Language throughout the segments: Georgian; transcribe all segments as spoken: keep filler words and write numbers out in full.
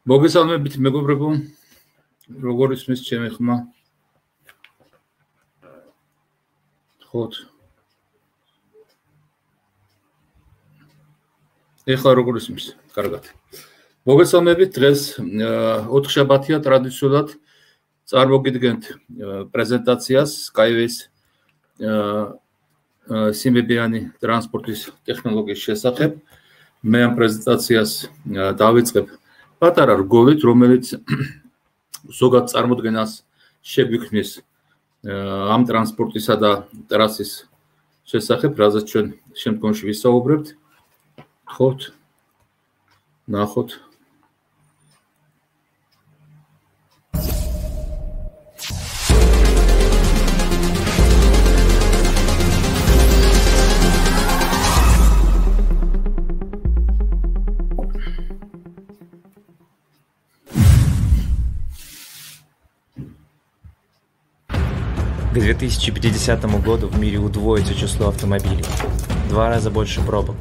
მოგესალმებით მეგობრებო, როგორ ისმის ჩემი ხმა? ხოთ. ეხლა როგორ ისმის? კარგად. მოგესალმებით, დღეს ოთხშაბათია ტრადიციულად წარმოგიდგენთ პრეზენტაციას Skyway-ის სიმებიანი ტრანსპორტის ტექნოლოგიის შესახებ. მე ამ პრეზენტაციას დავიწყებ პატარა რგოლით, რომელიც ზოგად წარმოდგენას შეგვიქმნის ამ ტრანსპორტისა და ტრასის შესახებ, რაზეც ჩვენ შემდგომში ვისაუბრებთ. ხოთ, ნახოთ. К две тысячи пятидесятому году в мире удвоится число автомобилей, два раза больше пробок,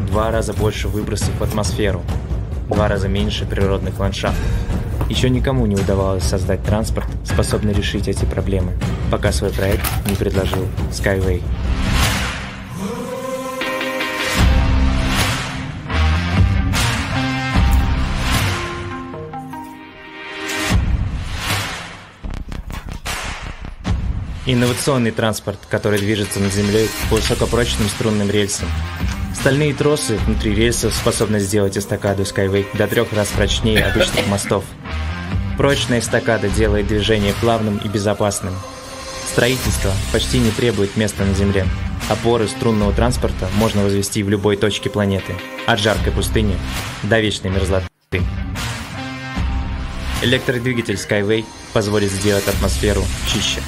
два раза больше выбросов в атмосферу, два раза меньше природных ландшафтов. Еще никому не удавалось создать транспорт, способный решить эти проблемы, пока свой проект не предложил Skyway. Инновационный транспорт, который движется над землей по высокопрочным струнным рельсам. Стальные тросы внутри рельсов способны сделать эстакаду Skyway до трех раз прочнее обычных мостов. Прочная эстакада делает движение плавным и безопасным. Строительство почти не требует места на земле. Опоры струнного транспорта можно возвести в любой точке планеты, от жаркой пустыни до вечной мерзлоты. Электродвигатель Skyway позволит сделать атмосферу чище.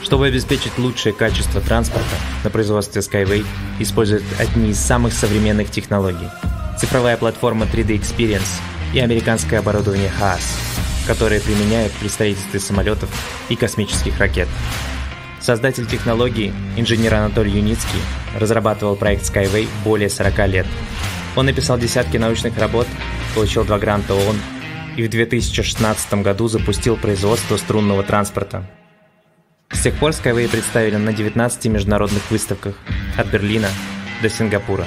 Чтобы обеспечить лучшее качество транспорта, на производстве Skyway используют одни из самых современных технологий – цифровая платформа три дэ Experience и американское оборудование хаас, которые применяют при строительстве самолетов и космических ракет. Создатель технологии, инженер Анатолий Юницкий, разрабатывал проект Skyway более сорока лет. Он написал десятки научных работ, получил два гранта ООН и в две тысячи шестнадцатом году запустил производство струнного транспорта. С тех пор Skyway представили на девятнадцати международных выставках от Берлина до Сингапура.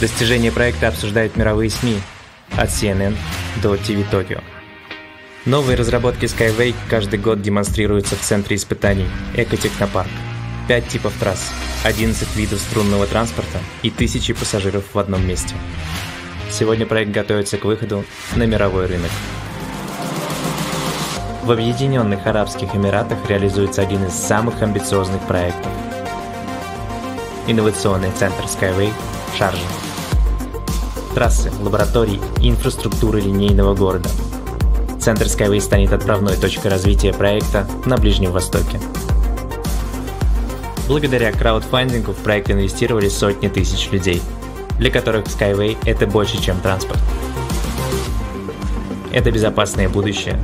Достижения проекта обсуждают мировые СМИ от си эн эн до ти ви Tokyo. Новые разработки Skyway каждый год демонстрируются в центре испытаний Экотехнопарк. Пять типов трасс, одиннадцать видов струнного транспорта и тысячи пассажиров в одном месте. Сегодня проект готовится к выходу на мировой рынок. В Объединенных Арабских Эмиратах реализуется один из самых амбициозных проектов – инновационный центр Skyway в Шарже. Трассы, лаборатории и инфраструктуры линейного города. Центр Skyway станет отправной точкой развития проекта на Ближнем Востоке. Благодаря краудфандингу в проект инвестировали сотни тысяч людей, для которых Skyway – это больше, чем транспорт. Это безопасное будущее,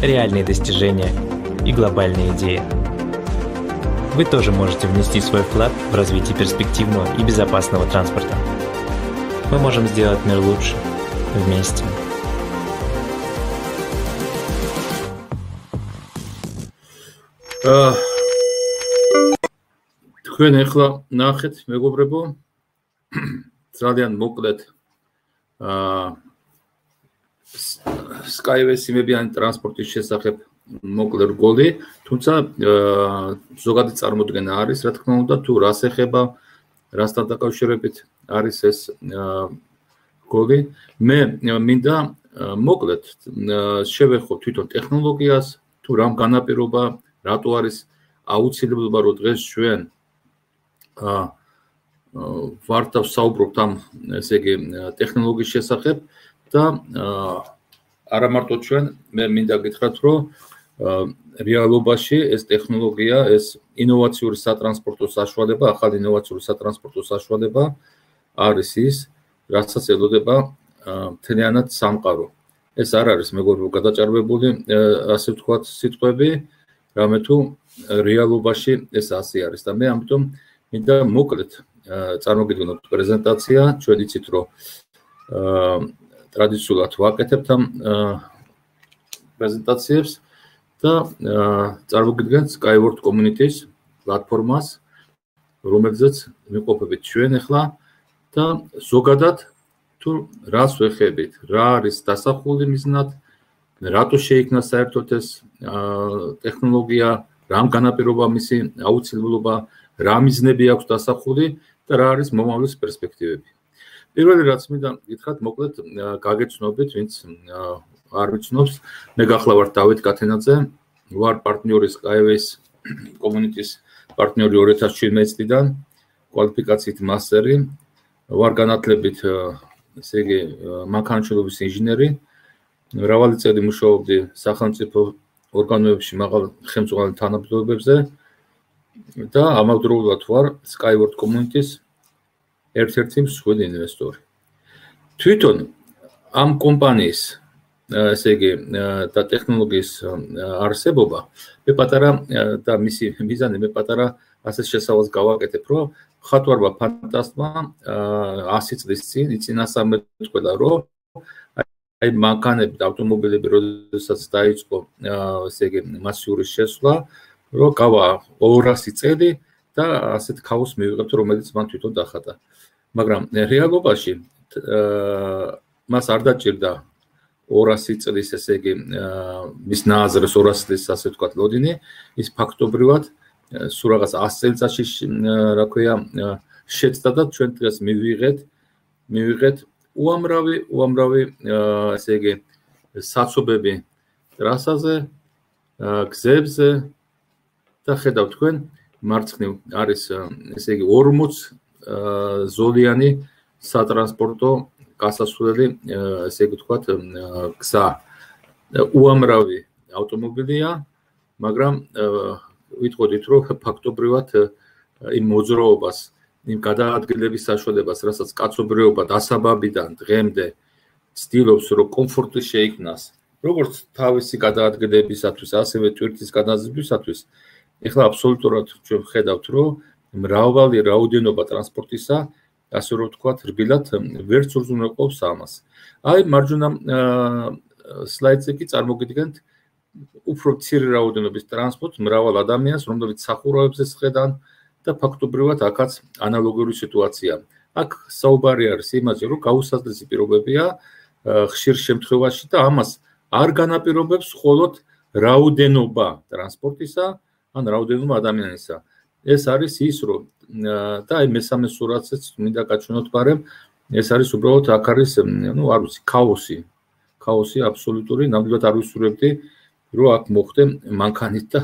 реальные достижения и глобальные идеи. Вы тоже можете внести свой вклад в развитие перспективного и безопасного транспорта. Мы можем сделать мир лучше вместе. თქვენ ახლა ნახეთ მეგობრებო, ძალიან მოკლედ აა Skyway სიმებიანი ტრანსპორტის შესახებ მოკლე რგოლი, თუმცა ზოგადი წარმოდგენა არის, რა თქმა უნდა, თუ რას ეხება, რასთან დაკავშირებით არის ეს რგოლი. მე მინდა მოკლედ შევეხო თვითონ ტექნოლოგიას, თუ რამ განაპირობა, რატო არის აუცილებლობა, რომ დღეს ჩვენ ვართ ვსაუბრობთ ამ ესე იგი ტექნოლოგიის შესახებ. და არა მარტო ჩვენ, მე მინდა გითხრათ, რომ რეალობაში ეს ტექნოლოგია, ეს ინოვაციური სატრანსპორტო საშუალება, ახალი ინოვაციური სატრანსპორტო საშუალება არის ის, რასაც ელოდება მთლიანად სამყარო. ეს არ არის მეგობრებო გადაჭარბებული, ასე ვთქვათ, სიტყვები, რამე თუ რეალობაში ეს ასე არის და მე ამიტომ მინდა მოკლედ წარმოგიდგენოთ პრეზენტაცია, ჩვენ იცით, რომ ტრადიციულად ვაკეთებთ ამ პრეზენტაციებს და წარმოგიდგენთ Skyward Community-ს პლატფორმას, რომელზეც მიყოფებით ჩვენ ახლა და ზოგადად თუ რას ვეხებით, რა არის დასახული მიზნად, რატო შეიქმნა საერთოდ ეს ტექნოლოგია, რამ განაპირობა მისი აუცილებლობა, რა მიზნები აქვს დასახული და რა არის მომავლის პერსპექტივები. პირველი რაც მინდა გითხრათ, მოკლედ გაგეცნობით, ვინც არ ვიცნობს, მე გახლავართ დავით კათენაძე, ვარ პარტნიორი Skyway Community-ს პარტნიორი ორი ათას შვიდმეტი წლიდან, კვალიფიკაციით მასტერი, ვარ განათლებით, ესე იგი, მანქანათმშენებლობის ინჟინერი, მრავალი წელი მუშაობდი სახელმწიფო ორგანოებში მაღალ ხელმძღვანელ თანამდებობებზე და ამავდროულად ვარ Skyward Community-ს ერთ-ერთი მსხვილი ინვესტორი. თვითონ ამ კომპანიის, ესე იგი, და ტექნოლოგიის არსებობა, მე პატარა და მისი მიზანი მე პატარა ასე შესავალს გავაკეთებ, რომ მხატვარმა ფანტასტმა ასი წლის წინ იწინასწარმეტყველა, რომ აი მანქანები და ავტომობილები როდესაც დაიწყო, ესე იგი, მასიური შესვლა, რომ გავა ორასი წელი და ასეთ ქაოსს მივიღებთ, რომელიც მან თვითონ დახატა. მაგრამ რეალობაში მას არ დაჭირდა ორასი წლის, ესე იგი, მის ნააზრეს ორასი წლის, ასე ვთქვათ, ლოდინი, ის ფაქტობრივად სულ რაღაც ასი წელიწადში, რა ქვია, შეცდა და ჩვენ დღეს მივიღეთ, მივიღეთ უამრავი, უამრავი, ესე იგი, საცობები ტრასაზე, გზებზე და ხედავთ თქვენ, მარცხნივ არის, ესე იგი, ორმოც ზოლიანი სატრანსპორტო გასასვლელი, ესე იგი ვთქვათ, გზა. უამრავი ავტომობილია, მაგრამ ვიტყოდით, რომ ფაქტობრივად იმ მოძრაობას, იმ გადაადგილების საშუალებას, რასაც კაცობრიობა დასაბაბიდან დღემდე ცდილობს, რომ კომფორტი შეიქმნას, როგორც თავისი გადაადგილებისათვის, ასევე ტვირთის გადაზიდვისათვის, ეხლა აბსოლუტურად ჩვენ ვხედავთ, რომ მრავალი რაოდენობა ტრანსპორტისა, ასე რომ ვთქვათ, რბილად ვერც უზრუნველყოფს ამას. აი, მარჯვენა სლაიდზე კი წარმოგიდგენთ უფრო მცირე რაოდენობის ტრანსპორტს, მრავალ ადამიანს, რომლებიც სახურავებზე სხედან და ფაქტობრივად აქაც ანალოგიური სიტუაცია. აქ საუბარი არის იმაზე, რომ გაუსაზრდელი პირობებია ხშირ შემთხვევაში და ამას არ განაპირობებს მხოლოდ რაოდენობა ტრანსპორტისა, ან რაოდენობა ადამიანისა. ეს არის ის, რომ და აი მესამე სურათზეც მინდა გაჩვენოთ, მაგრამ ეს არის უბრალოდ აქ არის, ნუ არ ვიცი, ქაოსი. ქაოსი აბსოლუტური, ნამდვილად არ ვისურვებდი, რომ აქ მოხდე მანქანით და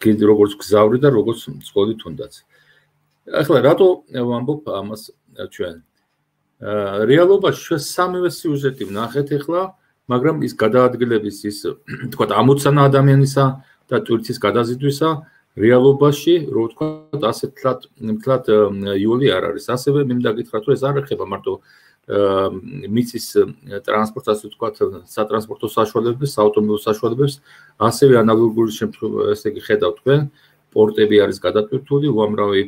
კიდე როგორც გზავრი და როგორც მძღოლი თუნდაც. ახლა რატო ვამბობ ამას ჩვენ? რეალობაში ჩვენ სამივე სიუჟეტი ვნახეთ ახლა, მაგრამ ის გადაადგილების ის, თქვათ, ამოცანა ადამიანისა და ტვირთის გადაზიდვისა რეალობაში, რო ვთქვათ, ასე თლად, თლად იოლი არ არის. ასევე მინდა გითხრათ, რომ ეს არ ეხება მარტო მიწის ტრანსპორტს, ასე ვთქვათ, სატრანსპორტო საშუალებებს, საავტომობილო საშუალებებს, ასევე ანალოგური შემთხვევაში, ესე იგი, ხედავთ თქვენ, პორტები არის გადატვირთული, უამრავი,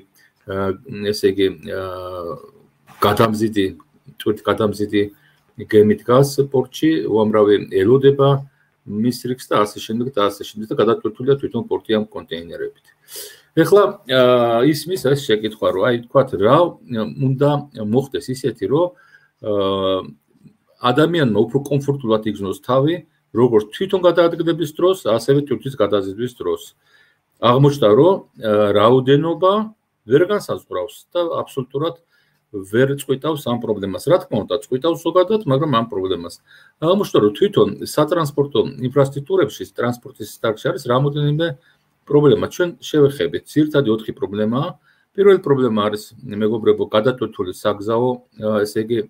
ესე იგი, გადამზიდი, ტვირთ გადამზიდი გემი დგას პორტში, უამრავი ელოდება მის რიგს და ასე შემდეგ და ასე შემდეგ და გადატვირთულია თვითონ პორტი ამ კონტეინერებით. ეხლა ისმის ეს შეკითხვა, რომ აი თქვათ, რა უნდა მოხდეს ისეთი, რომ ადამიანმა უფრო კომფორტულად იგრძნოს თავი, როგორც თვითონ გადაადგილების დროს, ასევე ტვირთის გადაზიდვის დროს. აღმოჩნდა, რომ რაოდენობა ვერ განსაზღვრავს და აბსოლუტურად ვერ წყვიტავს ამ პრობლემას. რა თქმა უნდა, წყვიტავს ზოგადად, მაგრამ ამ პრობლემას. აღმოჩნდა, რომ თვითონ სატრანსპორტო ინფრასტრუქტურებში, ტრანსპორტის დარგში არის რამოდენიმე პრობლემა. ჩვენ შევეხებით, ძირითადი ოთხი პრობლემაა. პირველი პრობლემა არის, მეგობრებო, გადატვირთული საგზაო, ესე იგი,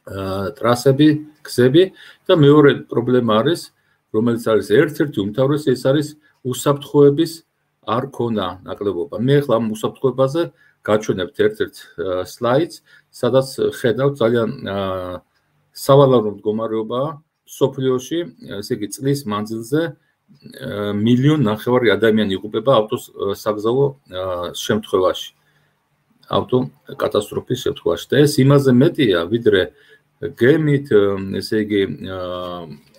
ტრასები, გზები და მეორე პრობლემა არის, რომელიც არის ერთ-ერთი უმთავრესი, ეს არის უსაფრთხოების არ ქონა ნაკლებობა. მე ახლა ამ უსაფრთხოებაზე გაჩვენებთ ერთ-ერთ სლაიდს, სადაც ხედავთ ძალიან სავალალო მდგომარეობაა სოფლიოში, ესე იგი, წლის მანძილზე მილიონ ნახევარი ადამიანი იღუპება ავტოს საგზაო შემთხვევაში, ავტო კატასტროფის შემთხვევაში. და ეს იმაზე მეტია, ვიდრე გემით, ესე იგი,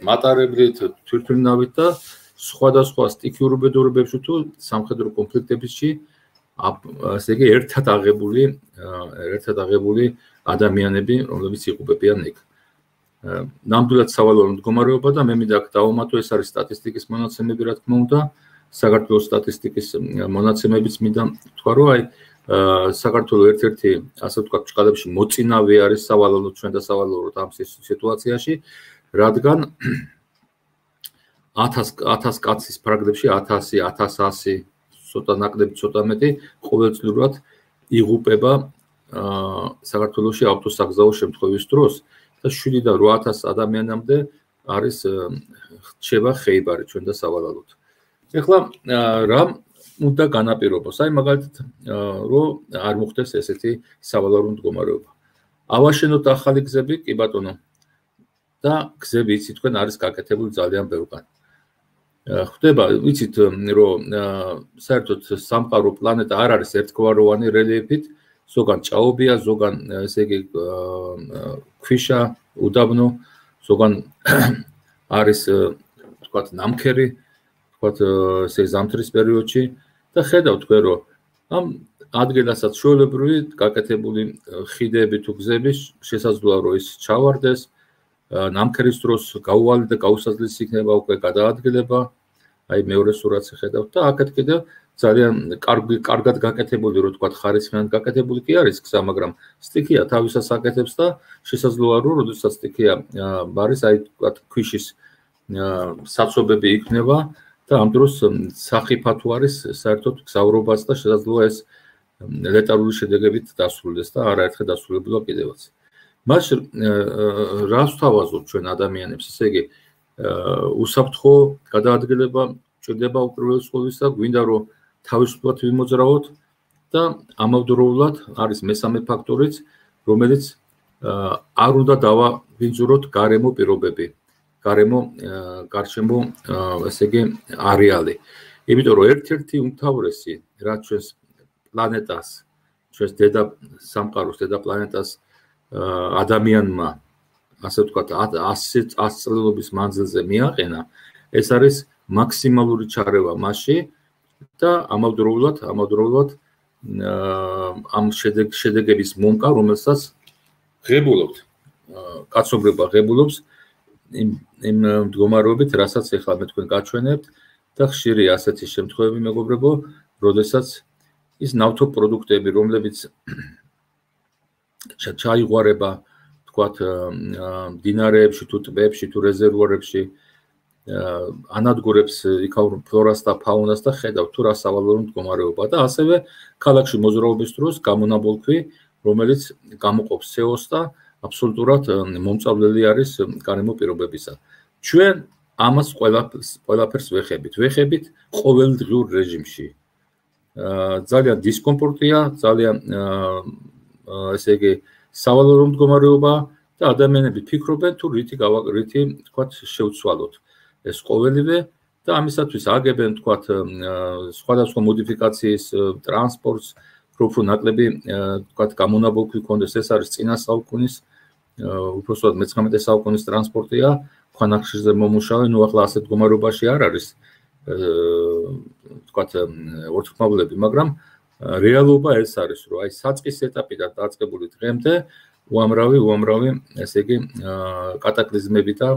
მატარებლით, თვითმფრინავით და სხვადასხვა სტიქიურ უბედურებებში თუ სამხედრო კონფლიქტებში, ესე იგი, ერთად აღებული, ერთად აღებული ადამიანები, რომლებიც იღუპებიან იქ. ნამდვილად სავალალო მდგომარეობა და მე მინდა აქ დავუმატო, ეს არის სტატისტიკის მონაცემები, რა თქმა უნდა, საქართველოს სტატისტიკის მონაცემებიც მინდა თქვა, რომ აი საქართველოს ერთ-ერთი, ასე ვთქვათ, ჭყალებში მოწინავე არის სავალალო ჩვენ და სავალალო ამ სიტუაციაში, რადგან ათას კაცის ფრაგმენტში ათასი, ათას ასი, ცოტა ნაკლები, ცოტა მეტი ყოველწლიურად იღუპება საქართველოში ავტოსაგზაო შემთხვევის დროს და შვიდიდან რვა ათას ადამიანამდე არის რჩება ხეიბარი ჩვენ და სავალალოდ. ეხლა რა უნდა განაპირობოს? აი მაგალითად რომ არ მოხდეს ესეთი სავალალო მდგომარეობა. ავაშენოთ ახალი გზები, კი ბატონო. და გზები იცით თქვენ არის გაკეთებული ძალიან ბევრგან. ხდება, ვიცით რომ საერთოდ სამყარო პლანეტა არ არის ერთგვაროვანი რელიეფით, ზოგან ჭაობია, ზოგან ესე იგი ქვიშა, უდაბნო, ზოგან არის თქვათ ნამქერი, თქვათ ესე ზამთრის პერიოდში და ხედავთ თქვენ რომ ამ ადგილასაც ჩვეულებრივი გაკეთებული ხიდები თუ გზები შესაძლოა რომ ის ჩავარდეს, ნამქერის დროს გაუვალი და გაუსაზღლისი იქნება უკვე გადაადგილება, აი მეორე სურათს ხედავთ და აქეთ კიდევ ძალიან კარგად გაკეთებული, რო თქვა ხარისხიანად გაკეთებული კი არის გზა, მაგრამ სტიქია თავისას აკეთებს და შესაძლოა რომ როდესაც სტიქია არის, აი თქვა ქვიშის საცობები იქნება და ამ დროს სახიფა თუ არის საერთოდ გზავრობას და შესაძლოა ეს ლეტალური შედეგებით დასრულდეს და არაერთხელ დასრულებულა კიდევაც. მას რას ვთავაზობთ ჩვენ ადამიანებს, ესე იგი უსაფრთხო გადაადგილება ჭირდება უპირველეს ყოვლისა, გვინდა რომ თავისუფლად ვიმოძრავოთ და ამავდროულად არის მესამე ფაქტორიც, რომელიც არ უნდა დავაბინძუროთ გარემო პირობები, გარემო გარშემო ესე იგი არეალი. იმიტომ რომ ერთ-ერთი უმთავრესი რაც ჩვენს პლანეტას, ჩვენს დედა სამყაროს, დედა პლანეტას ადამიანმა, ასე ვთქვათ, ასი წლების მანძილზე მიაყენა, ეს არის მაქსიმალური ჩარევა მასში და ამავდროულად, ამავდროულად ამ შედეგების მომკა, რომელსაც ღებულობთ, კაცობრიობა ღებულობს იმ იმ მდგომარეობით, რასაც ახლა მე თქვენ გაჩვენებთ და ხშირია ასეთი შემთხვევები, მეგობრებო, როდესაც ის ნავთობპროდუქტები, რომლებიც ჩაიღვარება, თქვათ, მდინარეებში თუ ტბებში თუ რეზერვუარებში, ანადგურებს იქაურ ფლორას და ფაუნას და ხედავთ თუ რა სავალალო მდგომარეობა და ასევე ქალაქში მოძრაობის დროს გამონაბოლქვი, რომელიც გამოყოფს სი ო-ს და აბსოლუტურად მომწავლელი არის გარემო პირობებისა. ჩვენ ამას ყველაფერს ვეხებით, ვეხებით ყოველდღიურ რეჟიმში. ძალიან დისკომფორტია, ძალიან ესე იგი სავალალო მდგომარეობა და ადამიანები ფიქრობენ თუ რითი რითი თქვათ შევცვალოთ ეს ყოველივე და ამისათვის აგებენ თქვათ სხვადასხვა მოდიფიკაციის ტრანსპორტს, უფრო ნაკლები თქვათ გამონაბოლქვი ქონდეს, ეს არის წინა საუკუნის უпроსტად მეცხრამეტე საუკუნის ტრანსპორტია, ქვანახშირზე მომუშავე, ნუ ახლა ასეთ მდგომარეობაში არ არის თქვათ ორთქმავლები, მაგრამ რეალობა ეს არის, რომ აი საწყის ეტაპიდან დაწყებული დღემდე უამრავი, უამრავი, ესე იგი, კატაკლიზმები და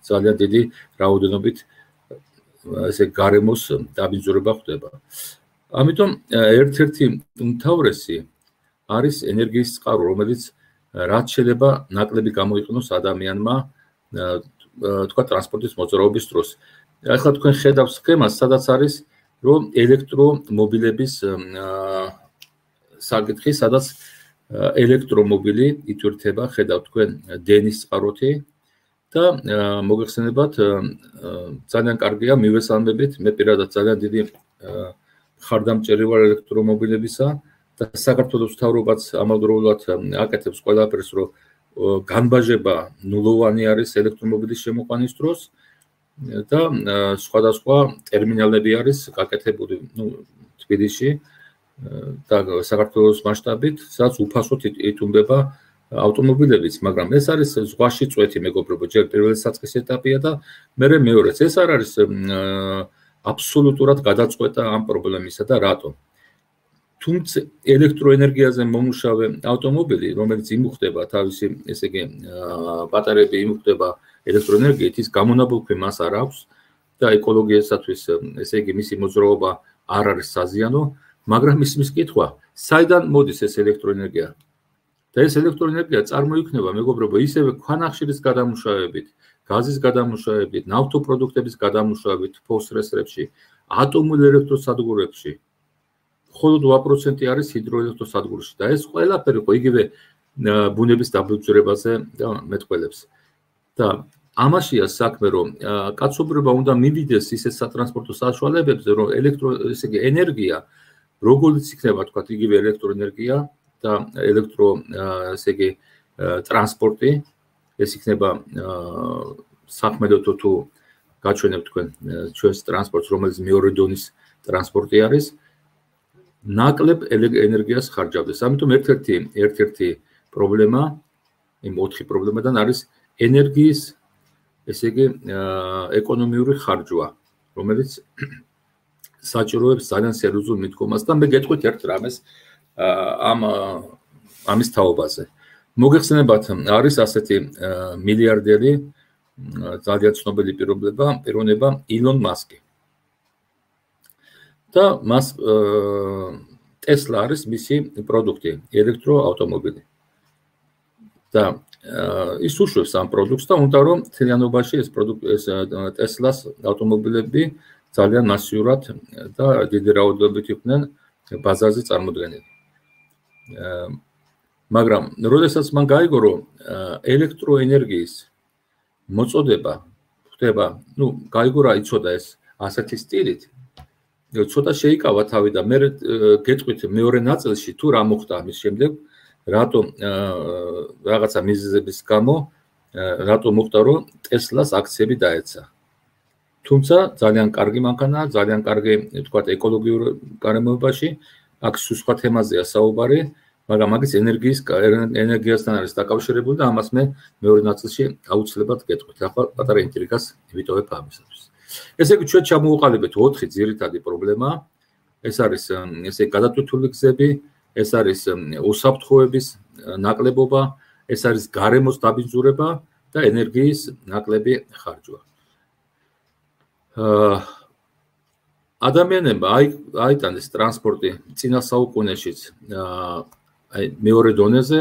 ძალიან დიდი რაოდენობით ესე გარემოს დაბინძურება ხდება. ამიტომ ერთ-ერთი უმთავრესი არის ენერგიის წყარო, რომელიც რაც შეიძლება ნაკლები გამოიყენოს ადამიანმა თქვა ტრანსპორტის მოძრაობის დროს. ახლა თქვენ ხედავთ სქემას, სადაც არის რომ ელექტრომობილების საკითხი, სადაც ელექტრომობილი იტვირთება, ხედავთ თქვენ დენის წყაროთი და მოგეხსენებათ ძალიან კარგია მივესალმებით, მე პირადად ძალიან დიდი ხარდამჭერი ვარ ელექტრომობილებისა და საქართველოს მთავრობაც ამავდროულად აკეთებს ყველაფერს, რომ განბაჟება ნულოვანი არის ელექტრომობილის შემოყვანის დროს და სხვადასხვა ტერმინალები არის გაკეთებული, ნუ თბილისში და საქართველოს მასშტაბით, სადაც უფასოდ იტუმბება ავტომობილებიც, მაგრამ ეს არის ზღვაში წვეთი, მეგობრებო, ჯერ პირველი საწყის ეტაპია და მერე მეორეც. ეს არ არის აბსოლუტურად გადაწყვეტა ამ პრობლემისა და რატომ? თუმცა ელექტროენერგიაზე მომუშავე ავტომობილი, რომელიც იმუხტება თავისი, ესე იგი, ბატარეები იმუხტება ელექტროენერგიით, ის გამონაბოლქვი მას არ აქვს და ეკოლოგიასათვის, ესე იგი, მისი მოძრაობა არ არის საზიანო, მაგრამ ისმის კითხვა, საიდან მოდის ეს ელექტროენერგია? და ეს ელექტროენერგია წარმოიქმნება, მეგობრებო, ისევე ქვანახშირის გადამუშავებით, გაზის გადამუშავებით, ნავთობპროდუქტების გადამუშავებით ფოსრესრებში, ატომურ ელექტროსადგურებში. მხოლოდ ორი პროცენტი არის ჰიდროელექტროსადგურში და ეს ყველაფერი ხო იგივე ბუნების დაბინძურებაზე მეტყველებს. და ამაშია საქმე, რომ კაცობრიობა უნდა მივიდეს ისეთ სატრანსპორტო საშუალებებზე, რომ ელექტრო, ესე იგი, ენერგია, როგორც იქნება, თქვა, იგივე ელექტროენერგია და ელექტრო, ესე იგი, ტრანსპორტი, ეს იქნება საქმედოთო თუ გაჩვენებთ თქვენ ჩვენს ტრანსპორტს, რომელიც მეორე დონის ტრანსპორტი არის, ნაკლებ ენერგიას ხარჯავდეს. ამიტომ ერთ-ერთი ერთ-ერთი პრობლემა, იმ ოთხი პრობლემიდან არის ენერგიის, ესე იგი, ეკონომიური ხარჯვა, რომელიც საჭიროებს ძალიან სერიოზულ მიდგომას და მე გეტყვით ერთ რამეს ამ ამის თაობაზე. მოგეხსენებათ, არის ასეთი მილიარდერი, ძალიან ცნობილი პიროვნება, პიროვნება ილონ მასკი. და მას ტესლა არის მისი პროდუქტი, ელექტროავტომობილი. და ის უშვებს ამ პროდუქტს და უნდა რომ თლიანობაში ეს პროდუქტი, ეს ტესლას ავტომობილები ძალიან მასიურად და დიდი რაოდენობით იყვნენ ბაზარზე წარმოდგენილი. მაგრამ როდესაც მან გაიგო, რომ ელექტროენერგიის მოწოდება ხდება, ну, გაიგო რა იცოდა ეს ასეთი სტილით, ცოტა შეიკავა თავი და მე გეტყვით მეორე ნაწილში თუ რა მოხდა ამის შემდეგ, რატომ რაღაცა მიზეზების გამო, რატომ მოხდა, რომ ტესლას აქციები დაეცა. თუმცა ძალიან კარგი მანქანაა, ძალიან კარგი, თქვათ, ეკოლოგიურ გარემოებაში, აქ სხვა თემაზეა საუბარი, მაგრამ მაგის ენერგიის ენერგიასთან არის დაკავშირებული და ამას მე მეორე ნაწილში აუცილებლად გეტყვით. ახლა პატარა ინტრიგას ვიტოვებ ამისათვის. ესე იგი, ჩვენ ჩამოვუყალიბეთ ოთხი ძირითადი პრობლემა. ეს არის ესე გადატვირთული გზები, ეს არის უსაფრთხოების ნაკლებობა, ეს არის გარემოს დაბინძურება და ენერგიის ნაკლები ხარჯვა. ადამიანებმა აიტანეს ტრანსპორტი წინა საუკუნეშიც აი მეორე დონეზე,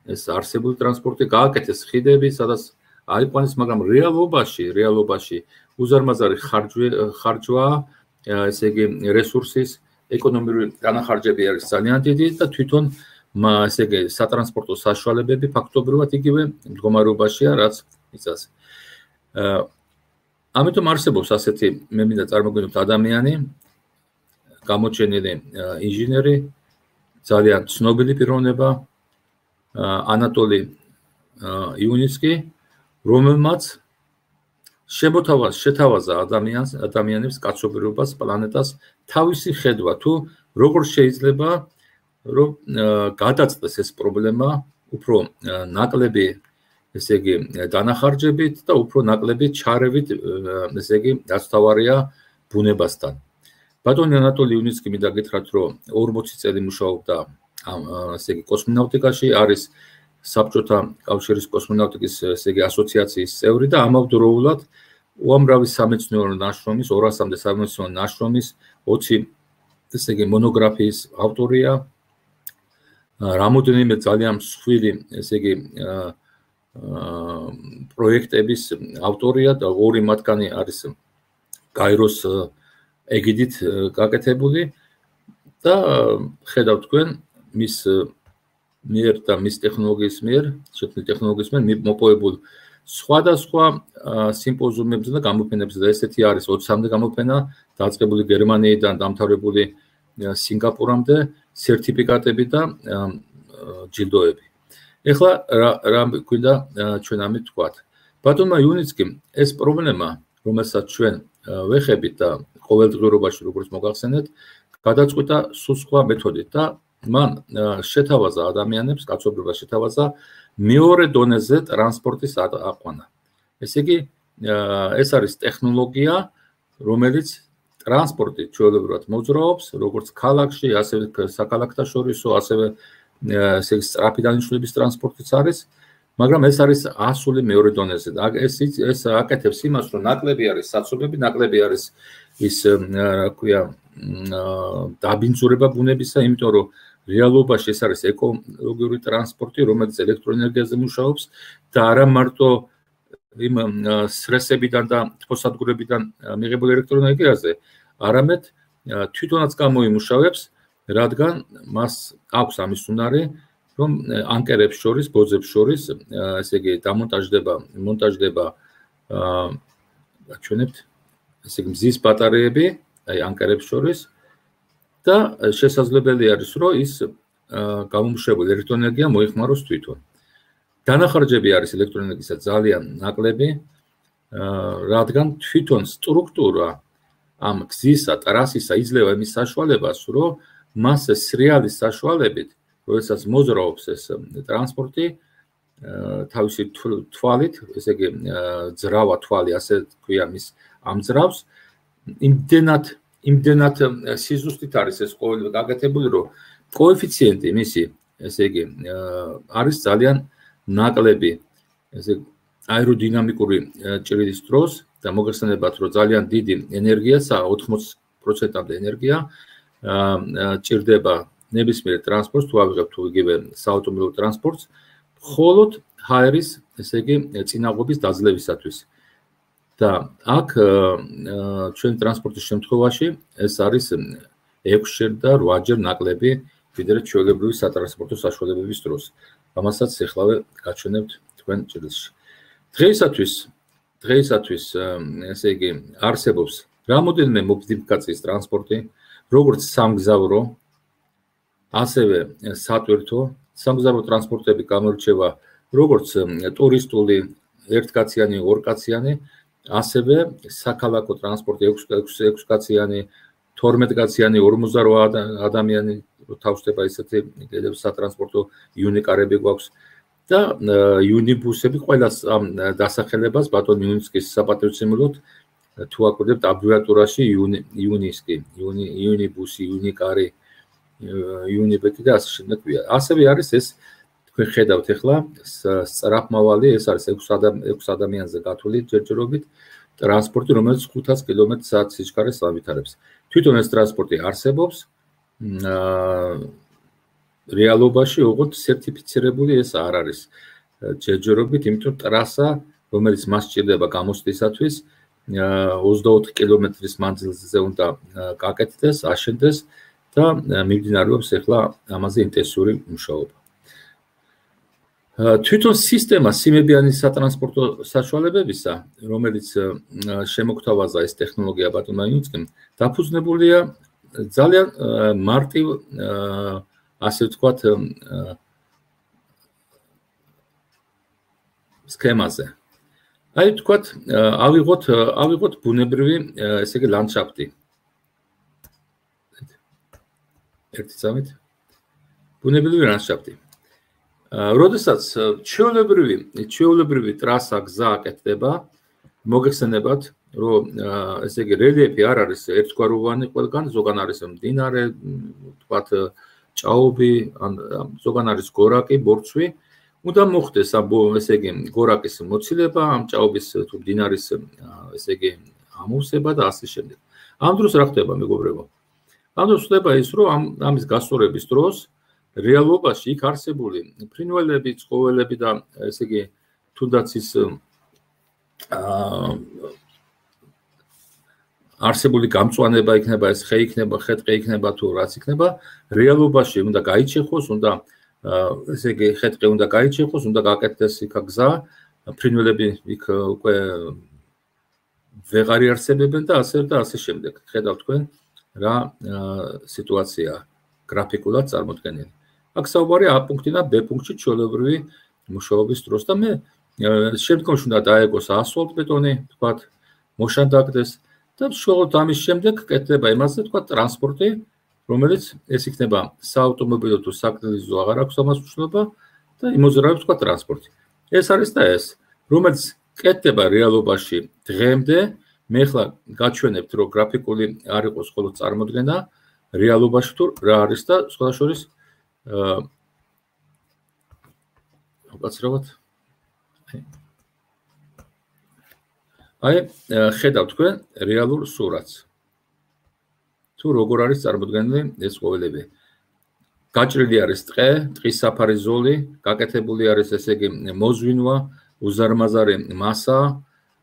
ეს არსებული ტრანსპორტი გააკეთეს ხიდები, სადაც აიყვანეს, მაგრამ რეალობაში, რეალობაში უზარმაზარი ხარჯვა, ესე იგი, რესურსის, ეკონომიკური განახარჯები არის ძალიან დიდი და თვითონ ესე იგი, სატრანსპორტო საშუალებები ფაქტობრივად იგივე მდგომარეობაშია, რაც იცას. ამიტომ არსებობს ასეთი, მე მინდა წარმოგიდგენოთ, ადამიანი, გამოჩენილი ინჟინერი, ძალიან ცნობილი პიროვნება, ანატოლი იუნიცკი, რომელმაც შეთავაზა ადამიანს, ადამიანებს, კაცობრიობას, პლანეტას თავისი ხედვა, თუ როგორ შეიძლება რომ გადაწყვეტს ეს პრობლემა უფრო ნაკლები, ესე იგი, დანახარჯებით და უფრო ნაკლები ჩარევით, ესე იგი, დაცვავარია ბუნებასთან. ბატონი ანატოლი იუნიცკი მინდა გითხრათ, რომ ორმოცი წელი მუშაობდა ამ, ესე იგი, კოსმონავტიკაში, არის საბჭოთა კავშირის კოსმონავტიკის, ესე იგი, ასოციაციის წევრი და ამავდროულად უამრავი სამეცნიერო ნაშრომის, ორასამდე სამეცნიერო ნაშრომის, ოცი, ესე იგი, მონოგრაფიის ავტორია, რამოდენიმე ძალიან მსხვილი, ესე იგი, პროექტების ავტორია და ორი მათგანი არის გაიროს ეგიდით გაკეთებული და ხედავთ თქვენ მის მიერ და მის ტექნოლოგიის მიერ, შექმნილი ტექნოლოგიის მიერ მოპოვებულ სხვადასხვა სიმპოზიუმებზე და გამოფენებზე და ესეთი არის ოცამდე გამოფენა დაწყებული გერმანიიდან დამთავრებული სინგაპურამდე სერტიფიკატები და ჯილდოები. ეხლა რა გვინდა ჩვენ ამით ვთქვათ. ბატონმა იუნიცკიმ ეს პრობლემა, რომელსაც ჩვენ ვეხებით და ყოველდღიურობაში როგორც მოგახსენეთ, გადაწყვეტა სულ სხვა მეთოდით და მან შეთავაზა ადამიანებს, კაცობრიობას შეთავაზა მეორე დონეზე ტრანსპორტის აყვანა. ესე იგი, ეს არის ტექნოლოგია, რომელიც ტრანსპორტი ჩვეულებრივად მოძრაობს, როგორც ქალაქში, ასევე საქალაქთა შორისო, ასევე ესე იგი სწრაფი დანიშნულების ტრანსპორტიც არის, მაგრამ ეს არის ასული მეორე დონეზე. ეს ეს აკეთებს იმას, რომ ნაკლები არის საცობები, ნაკლები არის ის, რა ქვია, დაბინძურება ბუნებისა, იმიტომ რომ რეალობაში ეს არის ეკოლოგიური ტრანსპორტი, რომელიც ელექტროენერგიაზე მუშაობს და არა მარტო იმ სრესებიდან და თბოსადგურებიდან მიღებულ ელექტროენერგიაზე, არამედ თვითონაც გამოიმუშავებს, რადგან მას აქვს ამის უნარი, რომ ანკერებს შორის, ბოძებს შორის, ესე იგი, დამონტაჟდება, მონტაჟდება, აჩვენებთ, ესე იგი, მზის ბატარეები, აი ანკერებს შორის და შესაძლებელი არის, რომ ის გამომუშავებული ელექტროენერგია მოიხმაროს თვითონ. დანახარჯები არის ელექტროენერგიისა ძალიან ნაკლები, რადგან თვითონ სტრუქტურა ამ გზისა, ტრასისა იძლევა იმის საშუალებას, რომ მას სრიალის საშუალებით, როდესაც მოძრაობს ეს ტრანსპორტი, თავისი თვალით, ესე იგი, ძრავა თვალი, ასე თქვია, მის ამძრავს, იმდენად, იმდენად სიზუსტით არის ეს ყოველდღე გაკეთებული, რომ კოეფიციენტი მისი, ესე იგი, არის ძალიან ნაკლები, ესე აეროდინამიკური ჭრიდის დროს და მოგეხსენებათ, რომ ძალიან დიდი ენერგია, ოთხმოცი პროცენტამდე ენერგია ჭირდება ნებისმიერ ტრანსპორტს, თუ ავიღებთ თუ იგივე საავტომობილო ტრანსპორტს, მხოლოდ ჰაერის, ესე იგი, წინაღობის დაძლევისათვის. და აქ ჩვენი ტრანსპორტის შემთხვევაში ეს არის ექვსჯერ და რვაჯერ ნაკლები, ვიდრე ჩვეულებრივი სატრანსპორტო საშუალებების დროს. ამასაც ეხლავე გაჩვენებთ თქვენ ჭრილში. დღეისათვის, დღეისათვის, ესე იგი, არსებობს რამოდენიმე მოდიფიკაციის ტრანსპორტი, როგორც სამგზავრო, ასევე სატვირთო, სამგზავრო ტრანსპორტები გამოირჩევა როგორც ტურისტული, ერთკაციანი, ორკაციანი, ასევე საქალაქო ტრანსპორტი ექვსკაციანი, თორმეტკაციანი, ორმოცდარვა ადამიანი თავსდება ისეთი სატრანსპორტო იუნიკარები გვაქვს და იუნიბუსები ყველას ამ დასახელებას ბატონ იუნისკის საპატრიოტიზმოდ თუ აკვირდებთ აბრევიატურაში იუნისკი, იუნიბუსი, იუნიკარი, იუნიბეკი და ასე შემდეგ. ასევე არის ეს თქვენ ხედავთ ახლა სწრაფმავალი, ეს არის ექვს ადამიანზე გათვლილი ჯერჯერობით ტრანსპორტი, რომელიც ხუთას კილომეტრ საათს სიჩქარეს ავითარებს. თვითონ ეს ტრანსპორტი არსებობს, რეალობაში ოღონდ სერტიფიცირებული ეს არ არის ჯერჯერობით, იმიტომ ტრასა, რომელიც მას სჭირდება გამოსვლისათვის, ოცდაოთხი კილომეტრის მანძილზე უნდა გაკეთდეს, აშენდეს და მიმდინარეობს ახლა ამაზე ინტენსიური მუშაობა. თვითონ სისტემა სიმებიანი სატრანსპორტო საშუალებებისა, რომელიც შემოგთავაზა ეს ტექნოლოგია ბატონმა იუნისკიმ, დაფუძნებულია ძალიან მარტივ, ასე ვთქვათ, სქემაზე. აი ვთქვათ, ავიღოთ, ავიღოთ ბუნებრივი, ესე იგი, ლანდშაფტი. ერთი წამით. ბუნებრივი ლანდშაფტი. როდესაც ჩვეულებრივი, ჩვეულებრივი ტრასა გზა აკეთდება, მოგეხსენებათ, რომ ესე იგი რელიეფი არ არის ერთგვაროვანი ყველგან, ზოგან არის მდინარე, ვთქვათ, ჭაობი, ან ზოგან არის გორაკი, ბორცვი, უნდა მოხდეს ამ ესე იგი გორაკის მოცილება, ამ ჭაობის თუ მდინარის ესე იგი ამოვსება და ასე შემდეგ. ამ დროს რა ხდება, მეგობრებო? ამ დროს ხდება ის, რომ ამ ამის გასწორების დროს რეალობაში იქ არსებული ფრინველები, ცხოველები და ესე იგი თუნდაც ის არსებული გამწვანება იქნება, ეს ხე იქნება, ხეტყე იქნება თუ რაც იქნება, რეალობაში უნდა გაიჩეხოს, უნდა ესე იგი ხეტყე უნდა გაიჩეხოს, უნდა გაკეთდეს იქ გზა, ფრინველები იქ უკვე ვეღარ იარსებებენ და ასე და ასე შემდეგ. ხედავთ თქვენ რა სიტუაცია გრაფიკულად წარმოდგენილი. აქ საუბარია A პუნქტიდან B პუნქტში ჩვეულებრივი მუშაობის დროს და მე შემდგომში უნდა დაეგოს ასფალტბეტონი, თქვათ, მოშანდაკდეს და შეუძლოდ ამის შემდეგ კეთდება იმაზე, თქვათ, ტრანსპორტი, რომელიც ეს იქნება საავტომობილო თუ საკრიზისო აღარ აქვს ამას მნიშვნელობა და იმოძრავებს თქვა ტრანსპორტი. ეს არის და ეს, რომელიც კეთდება რეალობაში დღემდე, მე ხლა გაჩვენებთ, რომ გრაფიკული არ იყოს მხოლოდ წარმოდგენა, რეალობაში თუ რა არის და სხვა შორის აა უკაცრავად აი ხედავთ თქვენ რეალურ სურათს. თუ როგორ არის წარმოდგენილი ეს ყოველები. გაჭრილი არის ტყე, ტყის საფარი ზოლი, გაკეთებული არის ესე იგი მოზვინვა, უზარმაზარი მასა,